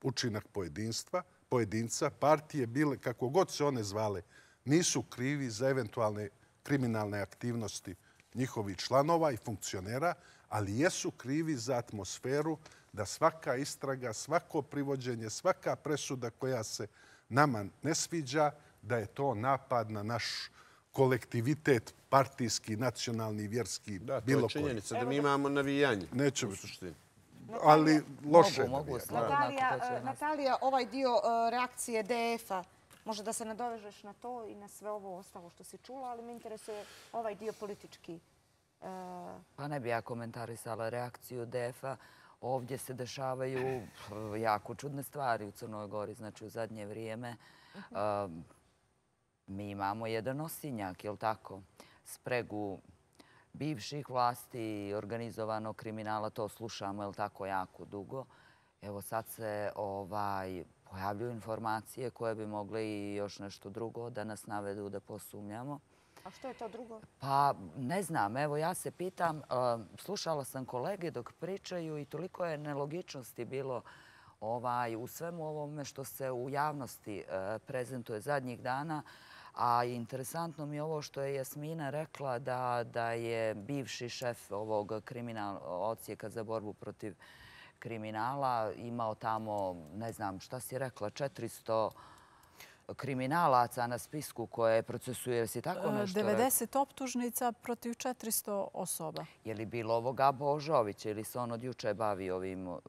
učinak pojedinstva, pojedinca. Partije bile, kako god se one zvale, nisu krivi za eventualne kriminalne aktivnosti njihovih članova i funkcionera, ali jesu krivi za atmosferu da svaka istraga, svako privođenje, svaka presuda koja se nama ne sviđa, da je to napad na naš kolektivitet, partijski, nacionalni, vjerski, Da, to bilo je koji. činjenica da mi imamo navijanje. Nećemo- u suštini. Ali loše. Mogu, mogu, navijanje. slobodno Natalija, ako hoće e, nas. Natalija, ovaj dio e, reakcije D F-a, može da se nadovežeš na to i na sve ovo ostalo što si čula, ali me interesuje ovaj dio politički. E, Pa ne bi ja komentarisala reakciju D F-a. Ovdje se dešavaju pf, jako čudne stvari u Crnoj Gori. Znači, u zadnje vrijeme um, mi imamo jedan osinjak, je li tako? Spregu bivših vlasti i organizovanog kriminala. To slušamo, je li tako, jako dugo. Evo sad se ovaj, pojavljuju informacije koje bi mogle i još nešto drugo da nas navedu da posumnjamo. a što je to drugo? Pa ne znam, evo ja se pitam, uh, slušala sam kolege dok pričaju i toliko je nelogičnosti bilo ovaj, u svemu ovome što se u javnosti uh, prezentuje zadnjih dana. A interesantno mi je ovo što je Jasmina rekla da, da je bivši šef ovog kriminal, odsjeka za borbu protiv kriminala imao tamo, ne znam šta si rekla, četiristo kriminalaca na spisku koje procesuje. Si tako nešto rekla? devedeset optužnica protiv četiristo osoba. Je li bilo ovoga Božovića ili se on od juče bavi ovim uh,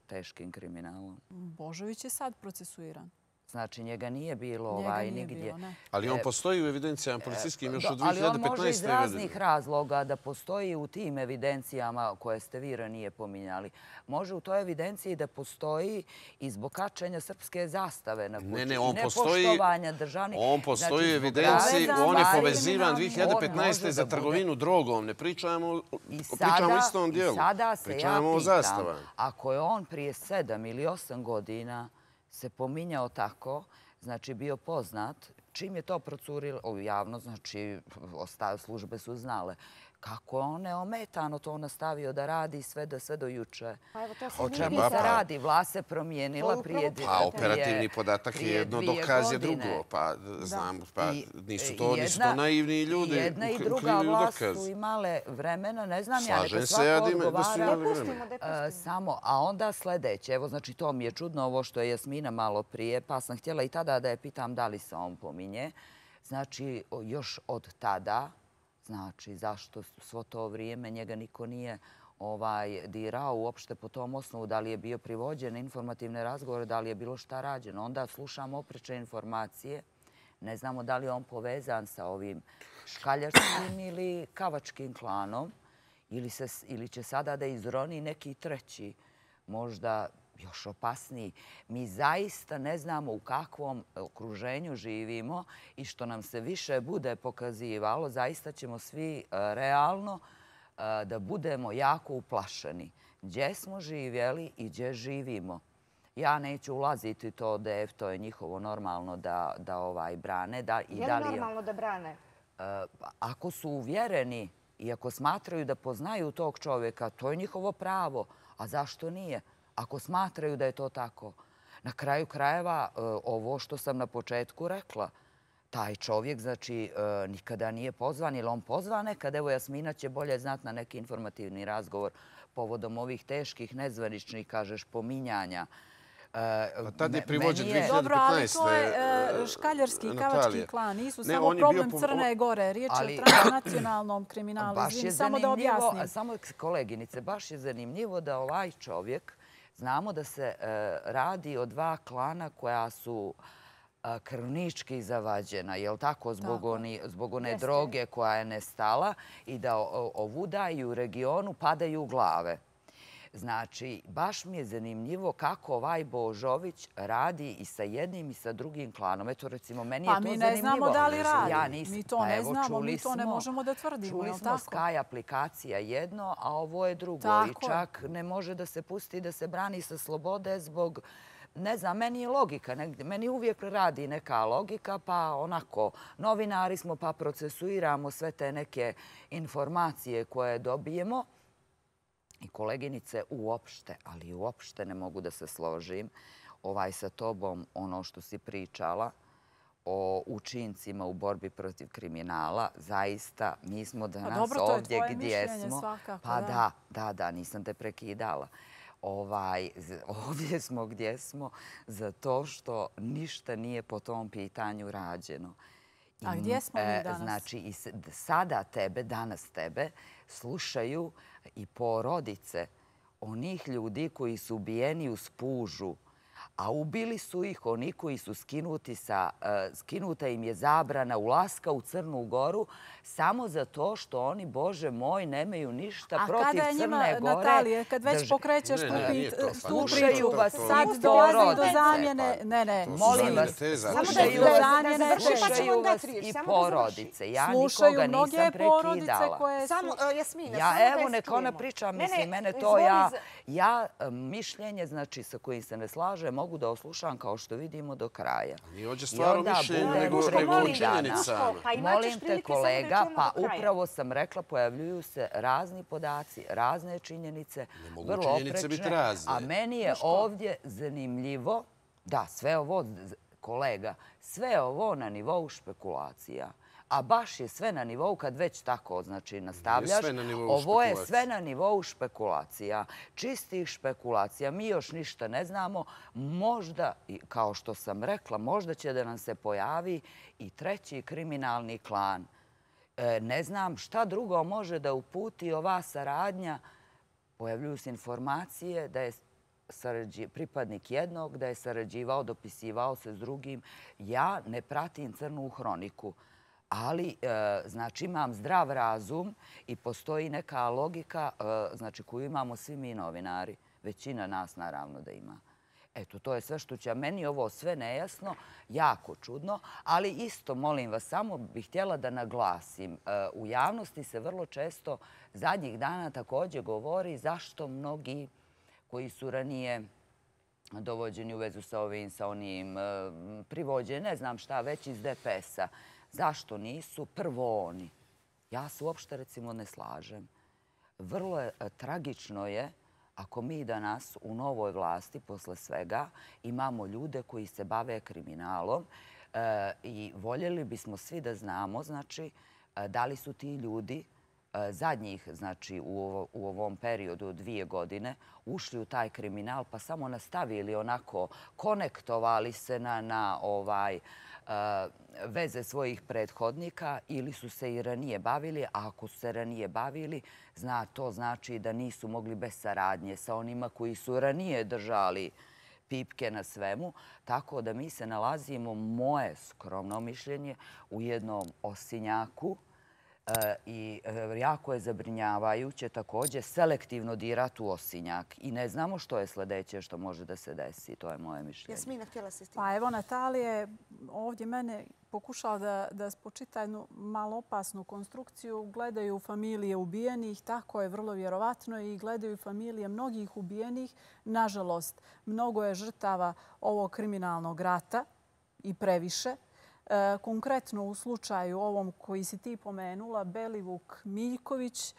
teškim kriminalom? Božović je sad procesuiran. Znači, njega nije bilo Njega ovaj, nije nigdje. bilo, ne. Ali on postoji u evidencijama policijskim još Do- od ali dvije on hiljade može iz petnaeste. raznih godine. razloga da postoji u tim evidencijama koje ste vi ranije pominjali. Može u toj evidenciji da postoji i zbog kačenja srpske zastave na kući. Ne, ne, i on postoji, nepoštovanja državnih. on postoji Znači, u zbog evidenciji, raznih on je stvari povezivan on dvije hiljade petnaeste. može za da bude- trgovinu drogom. Ne pričamo, I pričamo o istom i dijelu. sada se ja Pričamo o pitam, zastavama. ako je on prije sedam ili osam godina se pominjao tako, znači bio poznat, čim je to procurilo u javno, znači osta- službe su znale, kako je on neometano to nastavio da radi sve do, sve do juče. Pa evo, to se O nije čemu vidjelo. se radi? Vlast se promijenila To je prije upravo dvije- Pa prije- operativni podatak je prije jedno, dvije dokaz je godine. drugo. Pa znam, pa I- nisu i to, nisu to jedna- naivni ljudi. i jedna i u- druga ukrivljuju vlast dokaz. su imale vremena, ne znam ja, Slažem neka se ja svako da ima- da su odgovara. imali Pustimo, vremena. da E, pustimo. samo, a onda sljedeće, evo znači to mi je čudno ovo što je Jasmina malo prije, pa sam htjela i tada da je pitam da li se on pominje. spominje. Znači, još od tada, znači, zašto svo to vrijeme njega niko nije dirao uopšte po tom osnovu, da li je bio privođen na informativne razgovore, da li je bilo šta rađeno. Onda slušamo oprečne informacije. Ne znamo da li je on povezan sa ovim škaljarskim ili kavačkim klanom ili će sada da izroni neki treći, možda još opasniji. Mi zaista ne znamo u kakvom okruženju živimo i što nam se više bude pokazivalo, zaista ćemo svi realno da budemo jako uplašeni. Gdje smo živjeli i gdje živimo. Ja neću ulaziti to D F, to je njihovo normalno da ovaj brane. Je li normalno da brane? Ako su uvjereni i ako smatraju da poznaju tog čovjeka, to je njihovo pravo. A zašto nije? Ako smatraju da je to tako. Na kraju krajeva, ovo što sam na početku rekla, taj čovjek, znači, nikada nije pozvan ili on pozvan nekad. Evo, Jasmina će bolje znati na neki informativni razgovor povodom ovih teških, nezvaničnih, kažeš, pominjanja. Tad je privođen dvije hiljade petnaeste. Dobro, ali to je škaljarski i kavački klan. Nisu samo problem Crne Gore. Riječ je o transnacionalnom kriminalu. Samo da objasnim. Samo, koleginice, baš je zanimljivo da ovaj čovjek, znamo da se radi o dva klana koja su krvnički zavađena, je li tako, zbog one droge koja je nestala i da ovuda i u regionu padaju glave. Znači, baš mi je zanimljivo kako ovaj Božović radi i sa jednim i sa drugim klanom. Eto, recimo, meni je to zanimljivo. Pa mi ne znamo da li radi. Mi to ne znamo, mi to ne možemo da tvrdimo. Čuli smo Sky aplikacija jedno, a ovo je drugo. I čak ne može da se pusti da se brani sa slobode zbog... Ne znam, meni je logika. Meni uvijek radi neka logika, pa onako, novinari smo pa procesuiramo sve te neke informacije koje dobijemo. I koleginice, uopšte, ali uopšte ne mogu da se složim ovaj sa tobom, ono što si pričala o učincima u borbi protiv kriminala. Zaista, mi smo danas ovdje gdje smo. Pa da, da, da, nisam te prekidala. Ovdje smo gdje smo zato što ništa nije po tom pitanju rađeno. A gdje smo mi danas? Znači, sada tebe, danas tebe, slušaju i porodice onih ljudi koji su ubijeni uz pužu, a ubili su ih oni koji su skinuti sa, skinuta im je zabrana ulaska u Crnu Goru samo zato što oni, Bože moj, nemaju ništa protiv Crne Gore. A kada je njima, Natalije, kad već pokrećeš tu priču, slušaju vas sad dolazi do zamjene, ne, ne, molim vas, slušaju vas, slušaju vas i porodice. Ja nikoga nisam prekidala. Ja, evo, neka ona priča, mislim, mene to ja, ja mišljenje, znači, sa kojim se ne slaže, mogu da oslušam, kao što vidimo, do kraja. Nije ovdje stvar o mišljenju, nego o činjenicama. Molim te, kolega, pa upravo sam rekla, pojavljuju se razni podaci, razne činjenice, vrlo oprečne, a meni je ovdje zanimljivo, da, sve ovo, kolega, sve ovo na nivou špekulacija. A baš je sve na nivou, kad već tako, znači, nastavljaš, ovo je sve na nivou špekulacija, čistih špekulacija. Mi još ništa ne znamo. Možda, kao što sam rekla, možda će da nam se pojavi i treći kriminalni klan. Ne znam šta drugo može da uputi ova saradnja. Pojavljuju se informacije da je pripadnik jednog, da je sarađivao, dopisivao se s drugim. Ja ne pratim crnu hroniku. Ali, znači, imam zdrav razum i postoji neka logika, znači, koju imamo svi mi novinari. Većina nas, naravno, da ima. Eto, to je sve što će. Meni ovo sve nejasno, jako čudno, ali isto, molim vas, samo bih htjela da naglasim. U javnosti se vrlo često zadnjih dana također govori zašto mnogi koji su ranije dovođeni u vezu sa ovim, sa onim privođeni, ne znam šta, već iz D P S-a. Zašto nisu prvo oni? Ja se uopšte, recimo, ne slažem. Vrlo je tragično je ako mi danas u novoj vlasti, posle svega, imamo ljude koji se bave kriminalom i voljeli bismo svi da znamo, znači, da li su ti ljudi zadnjih, znači, u ovom periodu od dvije godine ušli u taj kriminal pa samo nastavili onako, konektovali se na ovaj veze svojih prethodnika ili su se i ranije bavili, a ako su se ranije bavili, to znači da nisu mogli bez saradnje sa onima koji su ranije držali pipke na svemu. Tako da mi se nalazimo, moje skromno mišljenje, u jednom osinjaku i jako je zabrinjavajuće također selektivno dirati u osinjak. I ne znamo što je sljedeće što može da se desi. To je moje mišljenje. Jasmina, htjela si s tim? Pa evo, Natalija je ovdje mene pokušala da, da spočita jednu malo opasnu konstrukciju. Gledaju familije ubijenih, tako je vrlo vjerovatno, i gledaju familije mnogih ubijenih. Nažalost, mnogo je žrtava ovog kriminalnog rata i previše. Konkretno u slučaju ovom koji si ti pomenula, Belivuk Miljković,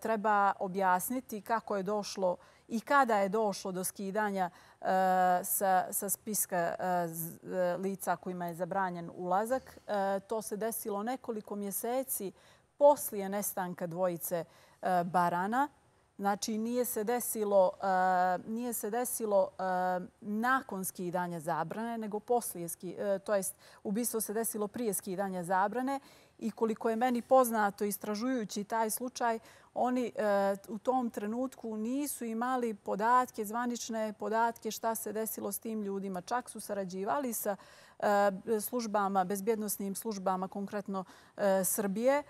treba objasniti kako je došlo i kada je došlo do skidanja sa, sa spiska lica kojima je zabranjen ulazak. To se desilo nekoliko mjeseci poslije nestanka dvojice barana. Znači, nije se desilo, nije se desilo nakon skidanja zabrane, nego poslije, to jest ubistvo se desilo prije skidanja zabrane. I koliko je meni poznato, istražujući taj slučaj, oni u tom trenutku nisu imali podatke, zvanične podatke šta se desilo s tim ljudima. Čak su sarađivali sa službama, bezbjednosnim službama, konkretno Srbije,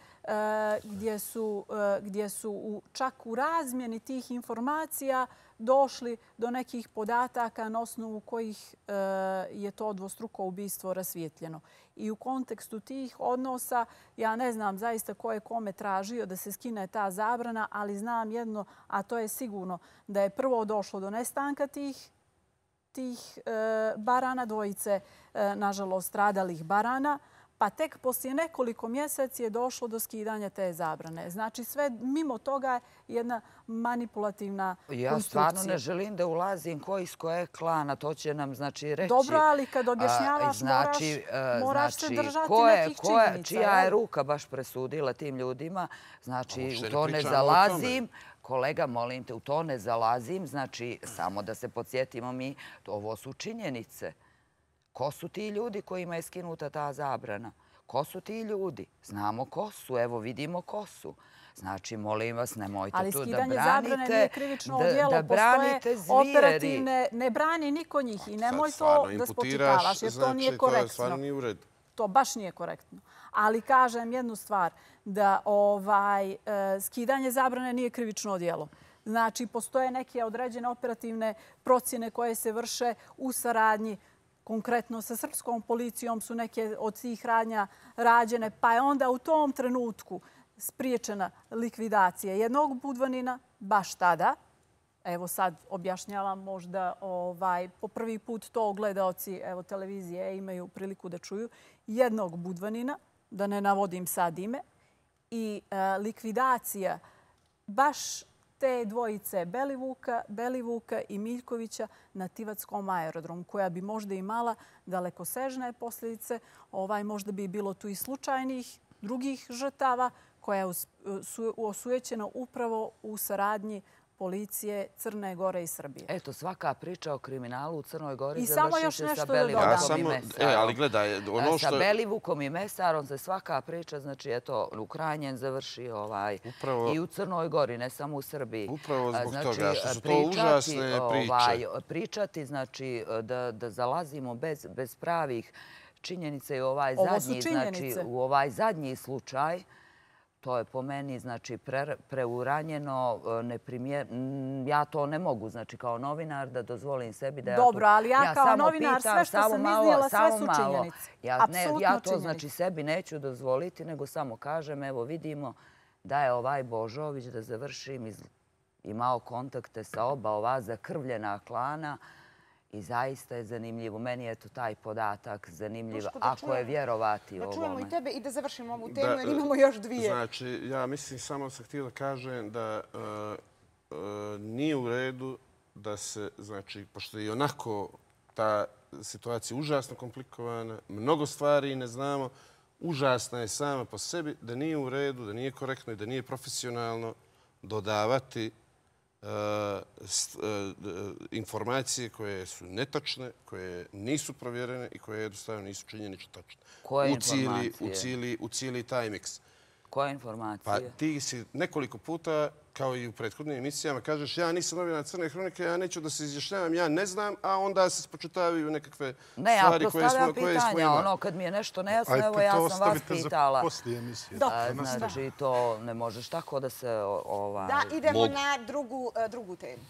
gdje su, gdje su čak u razmjeni tih informacija došli do nekih podataka na osnovu kojih je to dvostruko ubistvo rasvijetljeno. I u kontekstu tih odnosa, ja ne znam zaista ko je kome tražio da se skine ta zabrana, ali znam jedno, a to je sigurno da je prvo došlo do nestanka tih tih barana, dvojice, nažalost, stradalih barana, pa tek poslije nekoliko mjeseci je došlo do skidanja te zabrane. Znači, sve mimo toga je jedna manipulativna konstrukcija. Ja stvarno ne želim da ulazim ko iz koje klana, to će nam znači reći. Dobro, ali kad objašnjavaš znači, moraš, moraš se držati ko je, nekih ko je, činjenica. čija je ruka baš presudila tim ljudima, znači u to ne zalazim. Kolega, molim te, u to ne zalazim. Znači, samo da se podsjetimo mi, ovo su činjenice. Ko su ti ljudi kojima je skinuta ta zabrana? Ko su ti ljudi? Znamo ko su. Evo, vidimo ko su. Znači, molim vas, nemojte ali tu da branite... Ali skidanje zabrane nije krivično odjelo. Da branite zvijeri. Operativne... Ne brani niko njih i nemoj to da spočitavaš, jer to nije korektno. To stvarno nije u redu. To baš nije korektno. Ali kažem jednu stvar, da ovaj, skidanje zabrane nije krivično odjelo. Znači, postoje neke određene operativne procjene koje se vrše u saradnji. Konkretno sa srpskom policijom su neke od tih radnja rađene, pa je onda u tom trenutku spriječena likvidacija jednog budvanina, baš tada. Evo sad objašnjavam, možda ovaj, po prvi put to gledaoci evo, televizije imaju priliku da čuju. Jednog budvanina, da ne navodim sad ime, i e, likvidacija baš te dvojice Belivuka, Belivuka i Miljkovića na Tivatskom aerodromu, koja bi možda imala dalekosežne posljedice. Ovaj, možda bi bilo tu i slučajnih drugih žrtava koja je osujećena upravo u saradnji policije Crne Gore i Srbije. Eto, svaka priča o kriminalu u Crnoj Gori I samo još završi se sa nešto da dodam. Belivukom i Ja samo- Mesarom. e, ali gledaj, ono Sa što- Belivukom i Mesarom se svaka priča, znači, eto, u krajnjem završi ovaj, Upravo- i u Crnoj Gori, ne samo u Srbiji. Upravo zbog Znači, toga što su to pričati, užasne priče. Ovaj, pričati, znači, da, da zalazimo bez, bez pravih činjenica i u ovaj Ovo su zadnji, znači, činjenice. u ovaj zadnji slučaj, to je po meni znači pre, preuranjeno, neprimjer... Ja to ne mogu, znači kao novinar da dozvolim sebi da ja Dobro, tu... ali ja kao samo novinar pitam, sve što samo sam malo, iznijela, sve samo su malo. činjenice. Ja, ne, Apsolutno ja to činjenice. znači sebi neću dozvoliti, nego samo kažem, evo vidimo da je ovaj Božović, da završim, iz, imao kontakte sa oba ova zakrvljena klana. I zaista je zanimljivo. Meni je to taj podatak zanimljiv, Duško, da ako čujemo- je vjerovati Da ovome. čujemo i tebe i da završimo ovu Da, temu, jer imamo još dvije. Znači, ja mislim, samo sam htio da kažem da e, e, nije u redu da se, znači, pošto je i onako ta situacija užasno komplikovana, mnogo stvari ne znamo, užasna je sama po sebi, da nije u redu, da nije korektno i da nije profesionalno dodavati informacije koje su netačne, koje nisu provjerene i koje jednostavno nisu činjenično tačne. Koje informacije? U cijeli taj miks. Koje informacije? Pa ti si nekoliko puta, kao i u prethodnim emisijama, kažeš ja nisam novinar Crne hronike, ja neću da se izjašnjavam, ja ne znam, a onda se spočitavaju nekakve stvari koje smo imali. Ne, ja postavljam pitanja. Ono, kad mi je nešto nejasno, evo ja sam vas pitala. Poslije emisije. Znači, to ne možeš tako da se... Da, idemo na drugu temu.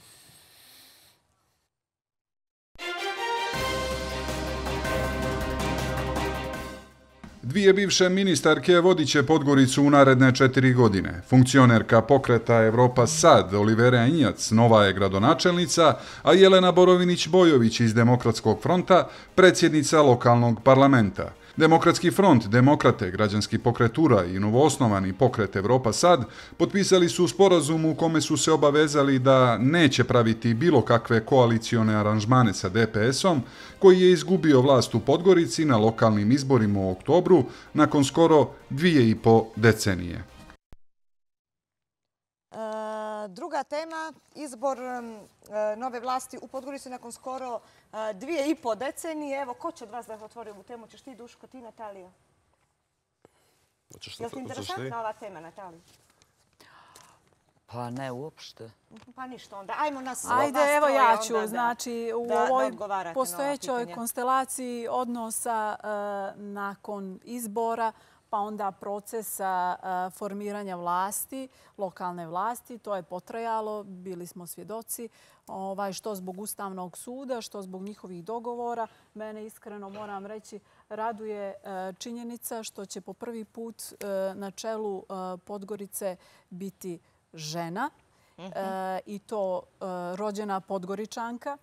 Dvije bivše ministarke vodit će Podgoricu u naredne četiri godine. Funkcionerka pokreta Evropa Sad, Olivera Injac, nova je gradonačelnica, a Jelena Borovinić-Bojović iz Demokratskog fronta, predsjednica lokalnog parlamenta. Demokratski front, Demokrate, Građanski pokret Ura i novoosnovani pokret Evropa Sad potpisali su sporazum u kome su se obavezali da neće praviti bilo kakve koalicione aranžmane sa D P S-om, koji je izgubio vlast u Podgorici na lokalnim izborima u oktobru nakon skoro dvije i po decenije. Druga tema, izbor nove vlasti u Podgorici nakon skoro dvije i po decenije. Evo, ko će od vas da otvori ovu temu? Ćeš ti, Duško, ti, Natalija? Je li ti interesantna ova tema, Natalija? Pa ne, uopšte. Pa ništa onda. Ajmo nas... Ajde, evo ja ću. Znači, u ovoj postojećoj konstelaciji odnosa nakon izbora, pa onda procesa formiranja vlasti, lokalne vlasti. To je potrajalo, bili smo svjedoci, što zbog Ustavnog suda, što zbog njihovih dogovora. Mene iskreno, moram reći, raduje činjenica što će po prvi put na čelu Podgorice biti žena i to rođena Podgoričanka.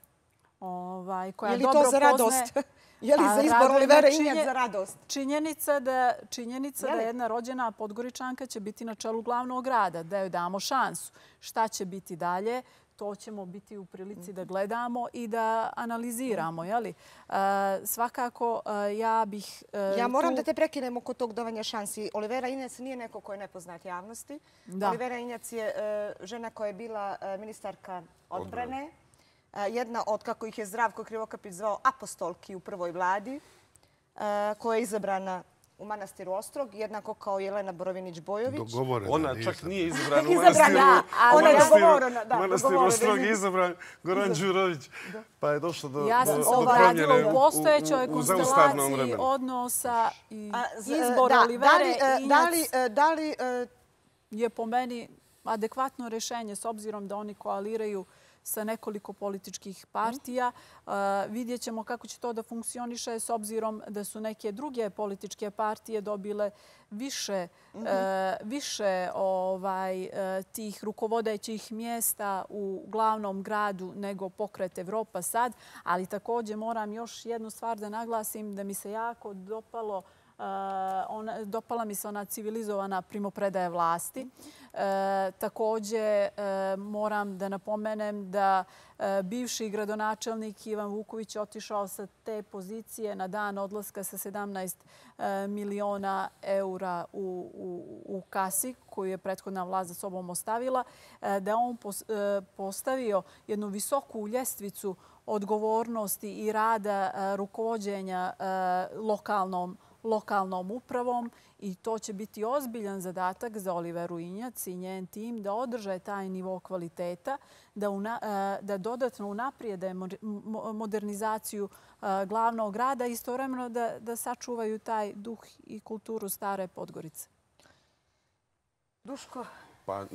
Je li to za radost? Je li za izbor Olivera Injac za radost? Činjenica da jedna rođena Podgoričanka će biti na čelu glavnog grada, da joj damo šansu. Šta će biti dalje? To ćemo biti u prilici da gledamo i da analiziramo. Svakako, ja bih... Ja moram da te prekinem oko tog davanja šansi. Olivera Injac nije neko ko je nepoznat javnosti. Olivera Injac je žena koja je bila ministarka odbrane. Jedna od, kako ih je Zdravko Krivokapić zvao, apostolki u prvoj vladi, koja je izabrana u manastiru Ostrog, jednako kao Jelena Borovinić-Bojović. Ona čak nije izabrana u manastiru Ostrog, je izabran Goran Đurović, pa je došlo do promjene ja sam se obradila u postojećoj konstelaciji odnosa i izbor Olivere Injac je po meni adekvatno rešenje s obzirom da oni koaliraju sa nekoliko političkih partija. Vidjet ćemo kako će to da funkcioniše s obzirom da su neke druge političke partije dobile više tih rukovodećih mjesta u glavnom gradu nego pokret Evropa Sad. Ali također moram još jednu stvar da naglasim da mi se jako dopalo dopala mi se ona civilizovana primopredaja vlasti. Također moram da napomenem da bivši gradonačelnik Ivan Vuković je otišao sa te pozicije na dan odlaska sa sedamnaest miliona eura u kasi koju je prethodna vlast za sobom ostavila, da on postavio jednu visoku ljestvicu odgovornosti i rada rukovođenja lokalnom lokalnom upravom i to će biti ozbiljan zadatak za Oliveru Injac i njen tim da održe taj nivo kvaliteta, da dodatno unaprijede modernizaciju glavnog grada i istovremeno da sačuvaju taj duh i kulturu stare Podgorice. Duško? Pa,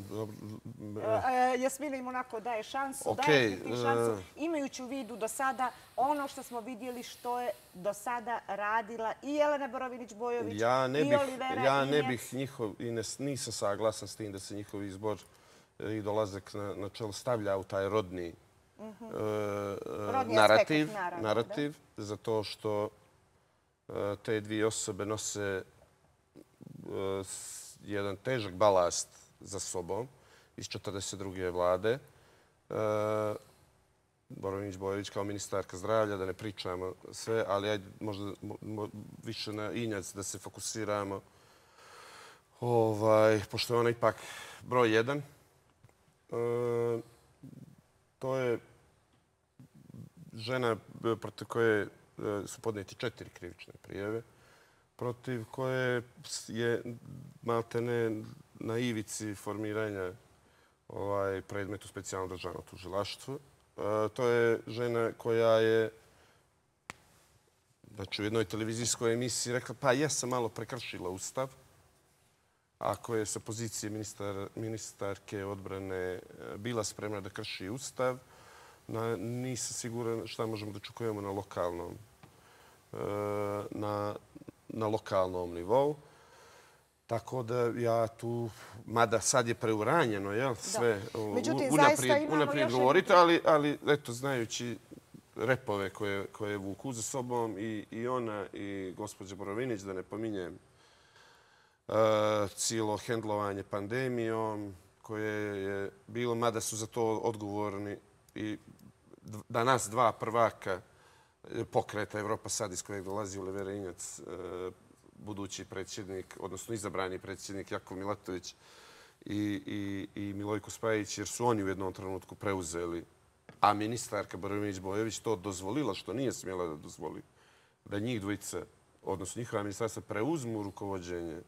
Jasmina im onako daje šansu, daje ti šansu, imajući u vidu do sada ono što smo vidjeli što je do sada radila i Jelena Borovinić-Bojović i Olivera Injac. Ja ne bih njihov, i nisam saglasan s tim da se njihov izbor i dolazak na čelo stavlja u taj rodni narativ, zato što te dvije osobe nose jedan težak balast za sobom iz četrdeset druge vlade. Borovinić-Bojović kao ministarka zdravlja, da ne pričamo sve, ali ajde možda više na Injac da se fokusiramo. Pošto je ona ipak broj jedan. To je žena protiv koje su podnijeti četiri krivične prijave, protiv koje je maltene na ivici formiranja ovaj predmet u specijalnom državnom tužilaštvu. To je žena koja je znači, u jednoj televizijskoj emisiji rekla pa jesam malo prekršila Ustav. Ako je sa pozicije ministar, ministarke odbrane bila spremna da krši Ustav, na, nisam siguran šta možemo da očekujemo na lokalnom, na, na lokalnom nivou. Tako da ja tu, mada sad je preuranjeno, jel, sve Međutim, unaprijed, unaprijed govorite, ali, ali eto, znajući repove koje, koje vuku za sobom i, i ona i gospođa Borovinić, da ne pominjem uh, cijelo hendlovanje pandemijom koje je bilo, mada su za to odgovorni i danas dva prvaka pokreta Evropa sad iz kojeg dolazi Olivera Injac, uh, budući predsjednik, odnosno izabrani predsjednik Jakov Milatović i, i, i Milojko Spajić, jer su oni u jednom trenutku preuzeli, a ministarka Borovinić-Bojović to dozvolila, što nije smjela da dozvoli, da njih dvojica, odnosno njihova ministarstva, preuzmu rukovođenje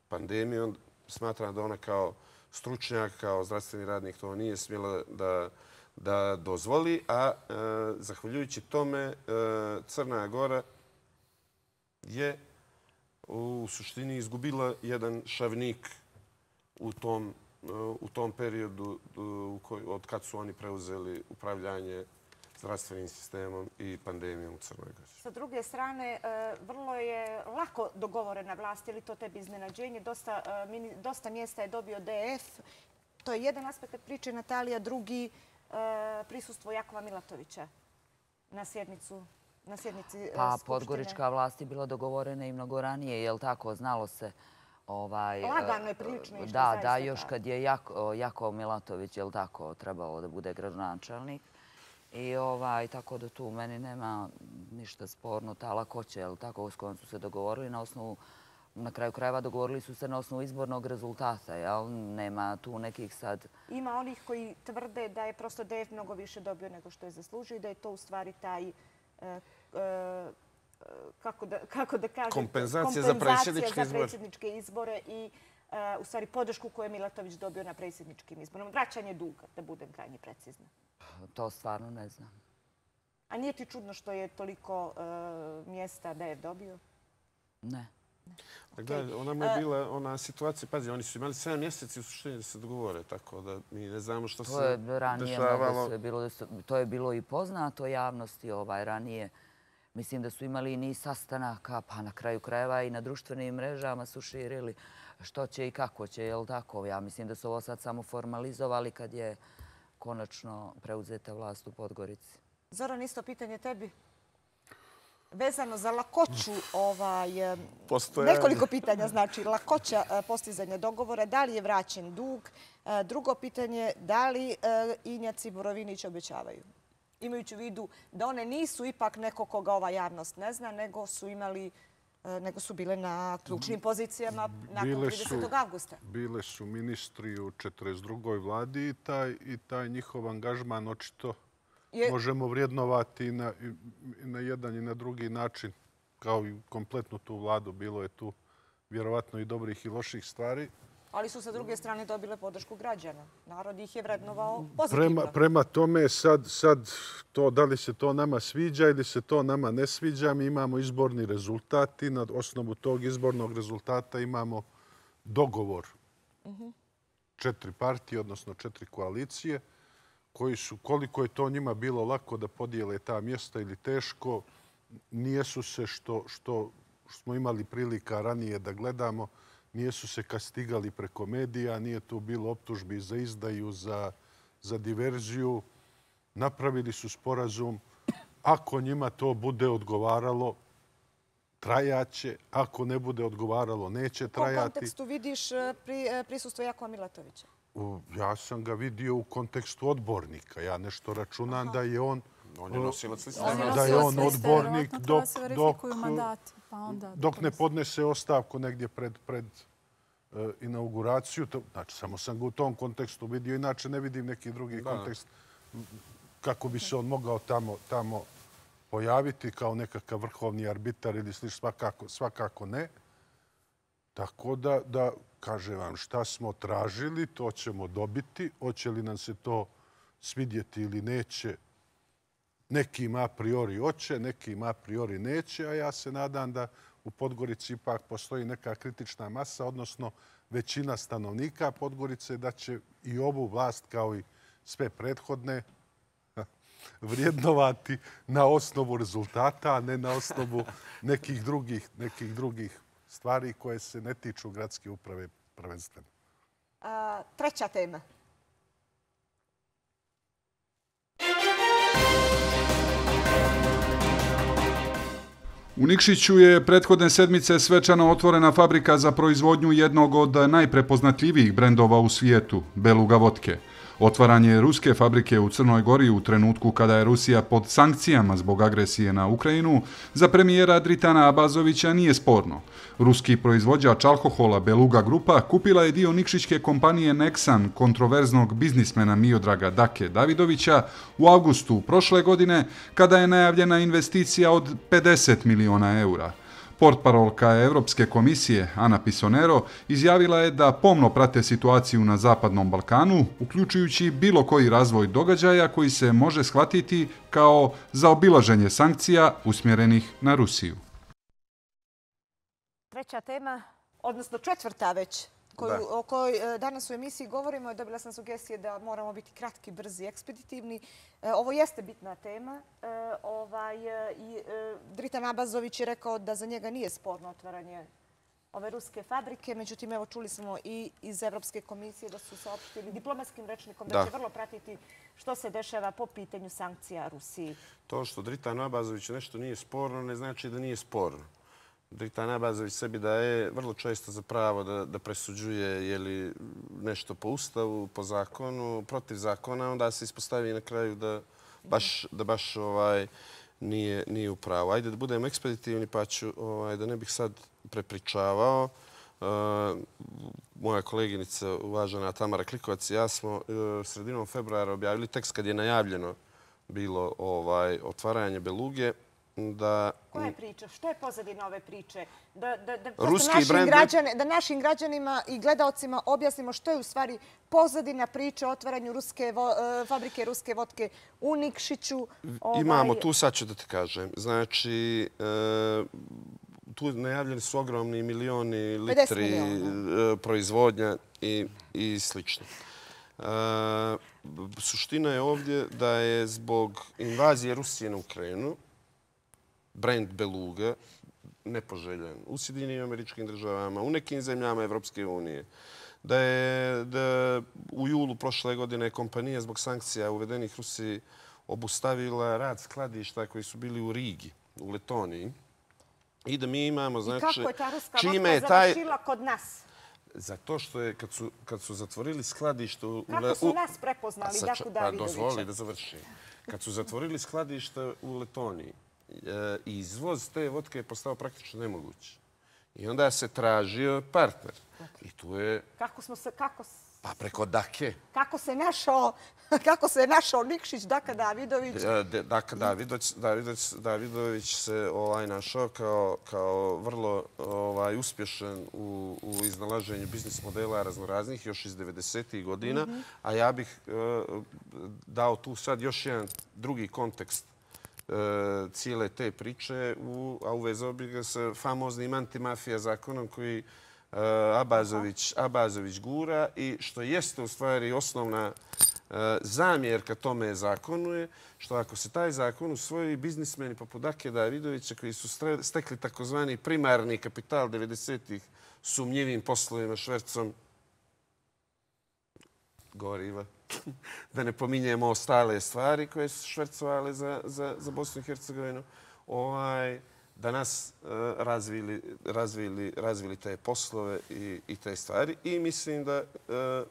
pandemijom. Smatram da ona kao stručnjak, kao zdravstveni radnik to nije smjela da, da dozvoli, a e, zahvaljujući tome e, Crna Gora je u suštini izgubila jedan šavnik u tom, u tom periodu od kad su oni preuzeli upravljanje zdravstvenim sistemom i pandemijom u Crnoj Gori. Sa druge strane, vrlo je lako dogovorena vlast, je li to tebi iznenađenje? Dosta, dosta mjesta je dobio D F. To je jedan aspekt priče, Natalija, drugi prisustvo Jakova Milatovića na sjednicu. Na sjednici pa podgorička vlast je bila dogovorena i mnogo ranije, je li tako? Znalo se... Ovaj, lagano je prilično išlo, da, zaista. Da, još kad je Jako, Jakov Milatović, je li tako, trebalo da bude gradonačelnik. I ovaj, tako da tu meni nema ništa sporno. Ta lakoća, je li tako, s kojom su se dogovorili na osnovu, na kraju krajeva dogovorili su se na osnovu izbornog rezultata, jel? Nema tu nekih sad... Ima onih koji tvrde da je prosto D F mnogo više dobio nego što je zaslužio i da je to u stvari taj... Kako da, kako da kažem, kompenzacija za predsjedničke, za predsjedničke izbore i uh, u stvari podršku koju je Milatović dobio na predsjedničkim izborima. Vraćanje duga, da budem krajnje precizna. To stvarno ne znam. A nije ti čudno što je toliko uh, mjesta da je dobio? Ne. Okay. Da, ona mu je bila ona situacija, pazi, oni su imali sedam mjeseci u suštini da se dogovore, tako da mi ne znamo što to se je ranije dešavalo. Sve bilo, to je bilo i poznato javnosti ovaj, ranije. Mislim da su imali i niz sastanaka, pa na kraju krajeva i na društvenim mrežama su širili što će i kako će, je li tako? Ja mislim da su ovo sad samo formalizovali kad je konačno preuzeta vlast u Podgorici. Zoran, isto pitanje tebi. Vezano za lakoću, ovaj, nekoliko pitanja, znači lakoća postizanja dogovora, da li je vraćen dug? Drugo pitanje, da li Injac i Borovinić obećavaju? Imajući u vidu da one nisu ipak neko koga ova javnost ne zna, nego su imali, nego su bile na ključnim pozicijama nakon tridesetog avgusta. Bile su ministri u četrdeset drugoj vladi i taj, i taj njihov angažman očito je... možemo vrijednovati i na, i na jedan i na drugi način. Kao i kompletnu tu vladu, bilo je tu vjerovatno i dobrih i loših stvari. Ali su sa druge strane dobile podršku građana. Narod ih je vrednovao pozitivno. Prema, prema tome, sad, sad to, da li se to nama sviđa ili se to nama ne sviđa, mi imamo izborni rezultat i na osnovu tog izbornog rezultata imamo dogovor uh-huh. četiri partije, odnosno četiri koalicije, koji su, koliko je to njima bilo lako da podijele ta mjesta ili teško, nijesu se što, što smo imali prilika ranije da gledamo, nijesu se kastigali preko medija, nije tu bilo optužbi za izdaju, za, za diverziju. Napravili su sporazum. Ako njima to bude odgovaralo, trajaće. Ako ne bude odgovaralo, neće trajati. U kom kontekstu vidiš pri, prisustvo Jakova Milatovića? U, ja sam ga vidio u kontekstu odbornika. Ja nešto računam Aha. da je on... On je nosilac liste. Da je on odbornik dok, dok, mandati, pa onda dok ne podnese ostavku negdje pred, pred uh, inauguraciju. To, znači, samo sam ga u tom kontekstu vidio. Inače ne vidim neki drugi da. kontekst. kako bi se on mogao tamo, tamo pojaviti kao nekakav vrhovni arbitar ili slično, svakako, svakako ne. Tako da, da kažem vam, šta smo tražili, to ćemo dobiti. Hoće li nam se to svidjeti ili neće, nekim a priori hoće, nekim a priori neće, a ja se nadam da u Podgorici ipak postoji neka kritična masa, odnosno većina stanovnika Podgorice, da će i ovu vlast, kao i sve prethodne, vrijednovati na osnovu rezultata, a ne na osnovu nekih drugih, nekih drugih stvari koje se ne tiču gradske uprave prvenstveno. A, treća tema. U Nikšiću je prethodne sedmice svečano otvorena fabrika za proizvodnju jednog od najprepoznatljivijih brendova u svijetu, Beluga vodke. Otvaranje ruske fabrike u Crnoj Gori u trenutku kada je Rusija pod sankcijama zbog agresije na Ukrajinu za premijera Dritana Abazovića nije sporno. Ruski proizvođač alkohola Beluga Grupa kupila je dio nikšićke kompanije Nexan kontroverznog biznismena Miodraga Dake Davidovića u avgustu prošle godine kada je najavljena investicija od pedeset miliona eura. Portparolka Evropske komisije Ana Pisonero izjavila je da pomno prate situaciju na Zapadnom Balkanu, uključujući bilo koji razvoj događaja koji se može shvatiti kao zaobilaženje sankcija usmjerenih na Rusiju. Treća tema, odnosno četvrta već, koju, o kojoj danas u emisiji govorimo. Dobila sam sugestije da moramo biti kratki, brzi, ekspeditivni. Ovo jeste bitna tema. Ovaj, i Dritan Abazović je rekao da za njega nije sporno otvaranje ove ruske fabrike. Međutim, evo čuli smo i iz Evropske komisije da su saopštili diplomatskim rečnikom da će vrlo pratiti što se dešava po pitanju sankcija Rusiji. To što Dritan Abazović nešto nije sporno ne znači da nije sporno. Dritan Abazović sebi daje vrlo često za pravo da, da presuđuje je li nešto po ustavu, po zakonu, protiv zakona, onda se ispostavi na kraju da baš, da baš ovaj, nije, nije u pravu. Ajde da budemo ekspeditivni, pa ću, ovaj, da ne bih sad prepričavao. Uh, moja koleginica, uvažena Tamara Klikovac i ja smo uh, sredinom februara objavili tekst kad je najavljeno bilo ovaj, otvaranje Beluge. Da, koja je priča? Što je pozadina ove priče? Da, da, da, ruski našim brand... građane, da našim građanima i gledalcima objasnimo što je u stvari pozadina priče o otvaranju ruske vo, fabrike ruske vodke u Nikšiću. Ovaj... Imamo tu, sad ću da ti kažem. Znači, e, tu najavljeni su ogromni milioni litri miliona. proizvodnja i, i slično. E, suština je ovdje da je zbog invazije Rusije na Ukrajinu brand Beluga nepoželjen u Sjedinjenim Američkim Državama, u nekim zemljama Evropske unije. Da je da u julu prošle godine kompanija zbog sankcija uvedenih Rusiji obustavila rad skladišta koji su bili u Rigi, u Letoniji. I da mi imamo, znači... I kako je ta ruska vodka završila kod nas? Zato što je, kad su, kad su zatvorili skladište... Kako su nas prepoznali, Daku Davidovića? Pa dozvoli da završim. Kad su zatvorili skladište u Letoniji, izvoz te vodke je postao praktično nemoguć. I onda se tražio partner. I tu je... Kako smo se... Kako... Pa preko Dake. Kako se našao... Kako se našao Nikšić, Daka Davidović? Daka Davidović, Davidović, Davidović se ovaj, našao kao, kao vrlo ovaj, uspješan u, u iznalaženju biznis modela raznoraznih još iz devedesetih godina. Mm-hmm. A ja bih uh, dao tu sad još jedan drugi kontekst cijele te priče, u, a uvezao bih ga sa famoznim antimafija zakonom koji uh, Abazović, Abazović gura i što jeste u stvari osnovna uh, zamjerka tome zakonu je što ako se taj zakon usvoji, biznismeni poput Dake Davidovića koji su stekli takozvani primarni kapital devedesetih sumnjivim poslovima švercom goriva, da ne pominjemo ostale stvari koje su švercovali za, za, za Bosnu i Hercegovinu, ovaj, da nas uh, razvili, razvili, razvili te poslove i, i te stvari. I mislim da uh,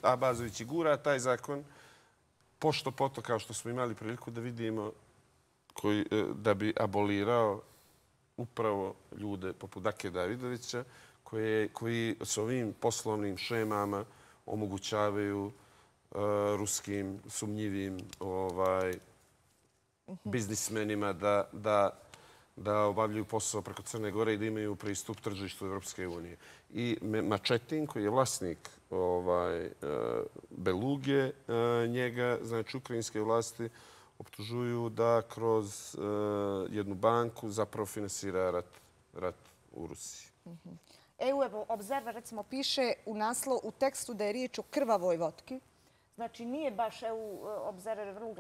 Abazović i gura taj zakon pošto poto, kao što smo imali priliku da vidimo, koji, uh, da bi abolirao upravo ljude poput Dake Davidovića koje, koji s ovim poslovnim šemama omogućavaju ruskim sumnjivim biznismenima da obavljaju posao preko Crne Gore i da imaju pristup tržištu Evropske unije. I Mačetin, koji je vlasnik Beluge, njega, znači ukrajinske vlasti, optužuju da kroz jednu banku zapravo finansira rat u Rusiji. E U Observer, recimo, piše u naslov, u tekstu da je riječ o krvavoj vodki. Znači, nije baš E U Observer vrlo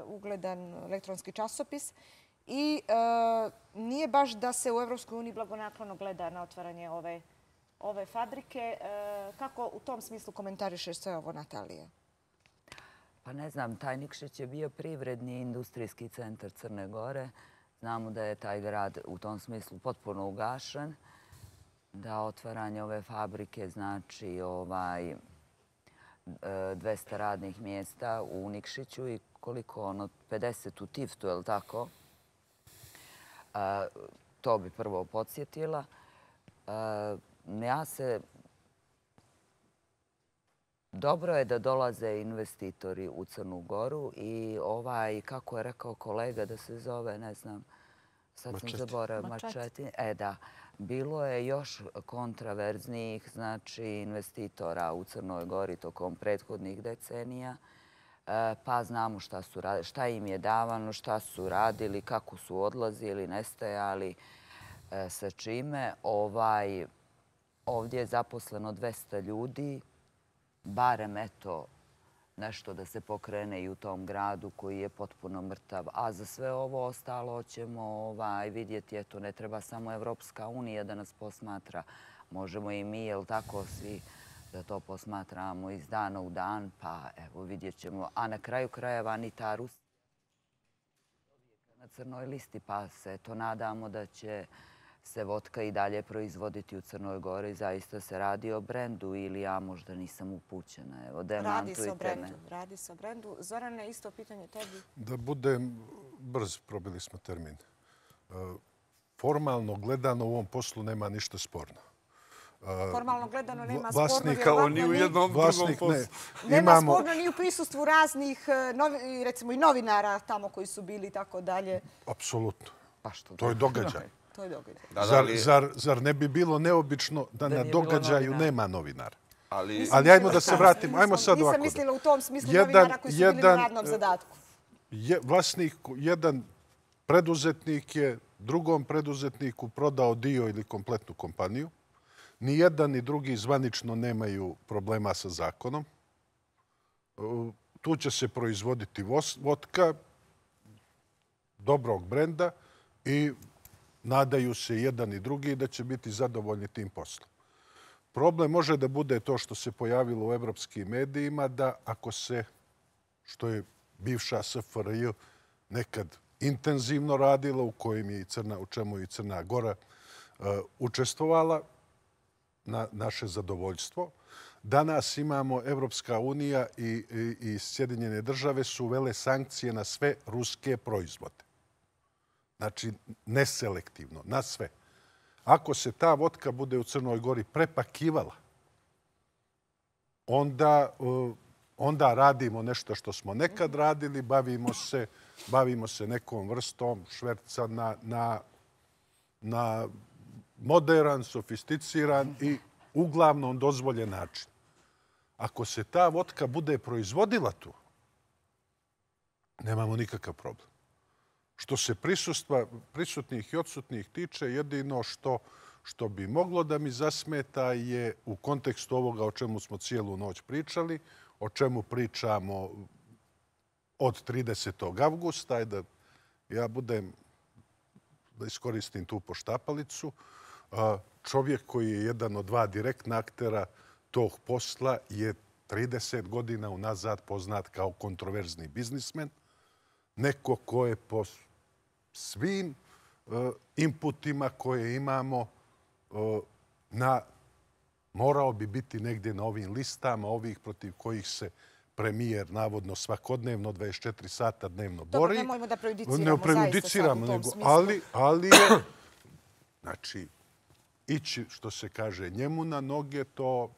ugledan elektronski časopis i nije baš da se u Evropskoj uniji blagonaklono gleda na otvaranje ove fabrike. Kako u tom smislu komentarišeš sve ovo, Natalija? Pa ne znam, taj Nikšić je bio privredni industrijski centar Crne Gore. Znamo da je taj grad u tom smislu potpuno ugašen, da otvaranje ove fabrike znači dvesta radnih mjesta u Nikšiću i koliko ono, pedeset u Tiftu, je li tako? To bi prvo podsjetila. Ja se... Dobro je da dolaze investitori u Crnu Goru i ovaj, kako je rekao kolega da se zove, ne znam, sad sam zaboravila, Mačetin. E da, bilo je još kontraverznijih, znači, investitora u Crnoj Gori tokom prethodnih decenija, pa znamo šta su radili, šta im je davano, šta su radili, kako su odlazili, nestajali, sa čime. Ovdje je zaposleno dvesta ljudi, barem eto nešto da se pokrene i u tom gradu koji je potpuno mrtav. A za sve ovo ostalo ćemo vidjeti, eto, ne treba samo Evropska unija da nas posmatra. Možemo i mi, jel tako, svi da to posmatramo iz dana u dan, pa evo vidjet ćemo. A na kraju krajeva ni ta Rusija na crnoj listi, pa se to nadamo da će se vodka i dalje proizvoditi u Crnoj Gori. Zaista se radi o brendu ili ja možda nisam upućena. Evo, demantujte me. Radi se o brendu. Zorane, isto pitanje tebi. Da budem brz, probili smo termin. Formalno gledano u ovom poslu nema ništa sporno. Formalno gledano nema sporno. Kao ni u jednom drugom poslu. Nema sporno ni u prisustvu raznih, recimo i novinara tamo koji su bili i tako dalje. Apsolutno. To je događaj. To je događaj. Zar ne bi bilo neobično da na događaju nema novinara? Ali ajmo da se vratimo. Ajmo sad ovako. Nisam mislila u tom smislu novinara koji su bili na radnom zadatku. Vlasnik, jedan preduzetnik je drugom preduzetniku prodao dio ili kompletnu kompaniju. Ni jedan ni drugi zvanično nemaju problema sa zakonom. Tu će se proizvoditi vodka dobrog brenda i nadaju se jedan i drugi da će biti zadovoljni tim poslom. Problem može da bude to što se pojavilo u evropskim medijima, da ako se, što je bivša S F R J nekad intenzivno radila, u čemu je i Crna Gora učestvovala, na naše zadovoljstvo. Danas imamo Evropska unija i Sjedinjene države su uvele sankcije na sve ruske proizvode. Znači, neselektivno, na sve. Ako se ta vodka bude u Crnoj Gori prepakivala, onda radimo nešto što smo nekad radili, bavimo se nekom vrstom šverca na moderan, sofisticiran i uglavnom dozvoljen način. Ako se ta vodka bude proizvodila tu, nemamo nikakav problem. Što se prisutnih i odsutnih tiče, jedino što bi moglo da mi zasmeta je u kontekstu ovoga o čemu smo cijelu noć pričali, o čemu pričamo od tridesetog avgusta, da ja budem, da iskoristim tu poštapalicu, čovjek koji je jedan od dva direktna aktera tog posla je trideset godina unazad poznat kao kontroverzni biznismen. Neko ko je po svim inputima koje imamo morao bi biti negdje na ovim listama, ovih protiv kojih se premijer navodno svakodnevno dvadeset četiri sata dnevno bori. Dobro, nemojmo da prejudiciramo zaista sad u tom smislu. Ali je, znači, ići, što se kaže, njemu na noge,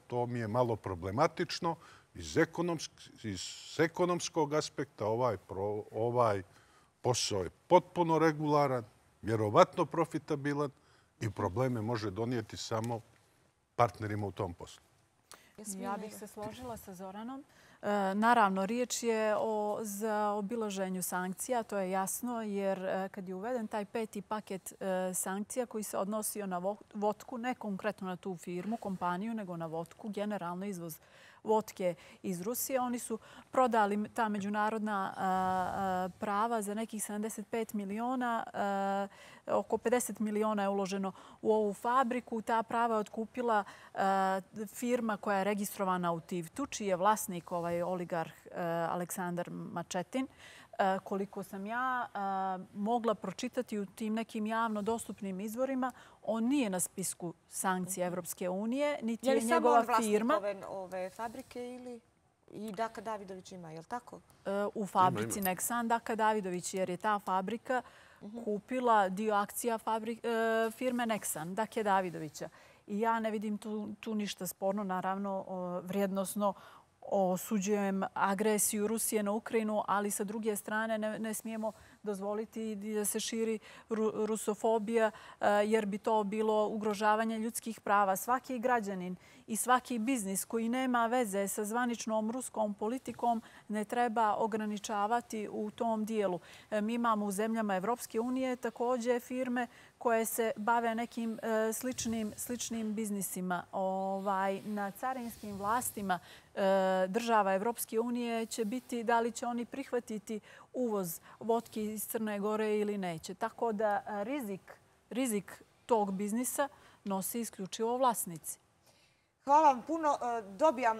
to mi je malo problematično. Iz ekonomskog aspekta ovaj posao je potpuno regularan, vjerovatno profitabilan i probleme može donijeti samo partnerima u tom poslu. Ja bih se složila sa Zoranom. Naravno, riječ je o zaobilaženju sankcija, to je jasno, jer kad je uveden taj peti paket sankcija koji se odnosio na vodku, ne konkretno na tu firmu, kompaniju, nego na vodku, generalno izvoz vodke iz Rusije. Oni su prodali ta međunarodna prava za nekih sedamdeset pet miliona. Oko pedeset miliona je uloženo u ovu fabriku. Ta prava je otkupila firma koja je registrovana u Tivtu, čiji je vlasnik ovaj oligarh Aleksandar Mačetin. Koliko sam ja mogla pročitati u tim nekim javno dostupnim izvorima, on nije na spisku sankcija Evropske unije, niti je njegova firma. Je li samo on vlasnik ove fabrike ili i Daka Davidović ima, je li tako? U fabrici Nexan Daka Davidović, jer je ta fabrika kupila dio akcija firme Nexan, Dake Davidovića. I ja ne vidim tu ništa sporno, naravno vrijednosno osuđujem agresiju Rusije na Ukrajinu, ali sa druge strane ne smijemo dozvoliti da se širi rusofobija, jer bi to bilo ugrožavanje ljudskih prava. Svaki građanin i svaki biznis koji nema veze sa zvaničnom ruskom politikom ne treba ograničavati u tom dijelu. Mi imamo u zemljama Evropske unije također firme koje se bave nekim sličnim biznisima. Na carinskim vlastima država Evropske unije će biti da li će oni prihvatiti uvoz vodke iz Crne Gore ili neće. Tako da rizik tog biznisa nosi isključivo vlasnici. Hvala vam puno. Dobijam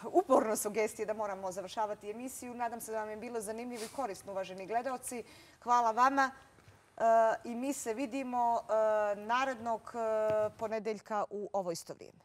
uporno sugestije da moramo završavati emisiju. Nadam se da vam je bilo zanimljivo i korisno, uvaženi gledaoci. Hvala vama i mi se vidimo narednog ponedeljka u ovo isto vrijeme.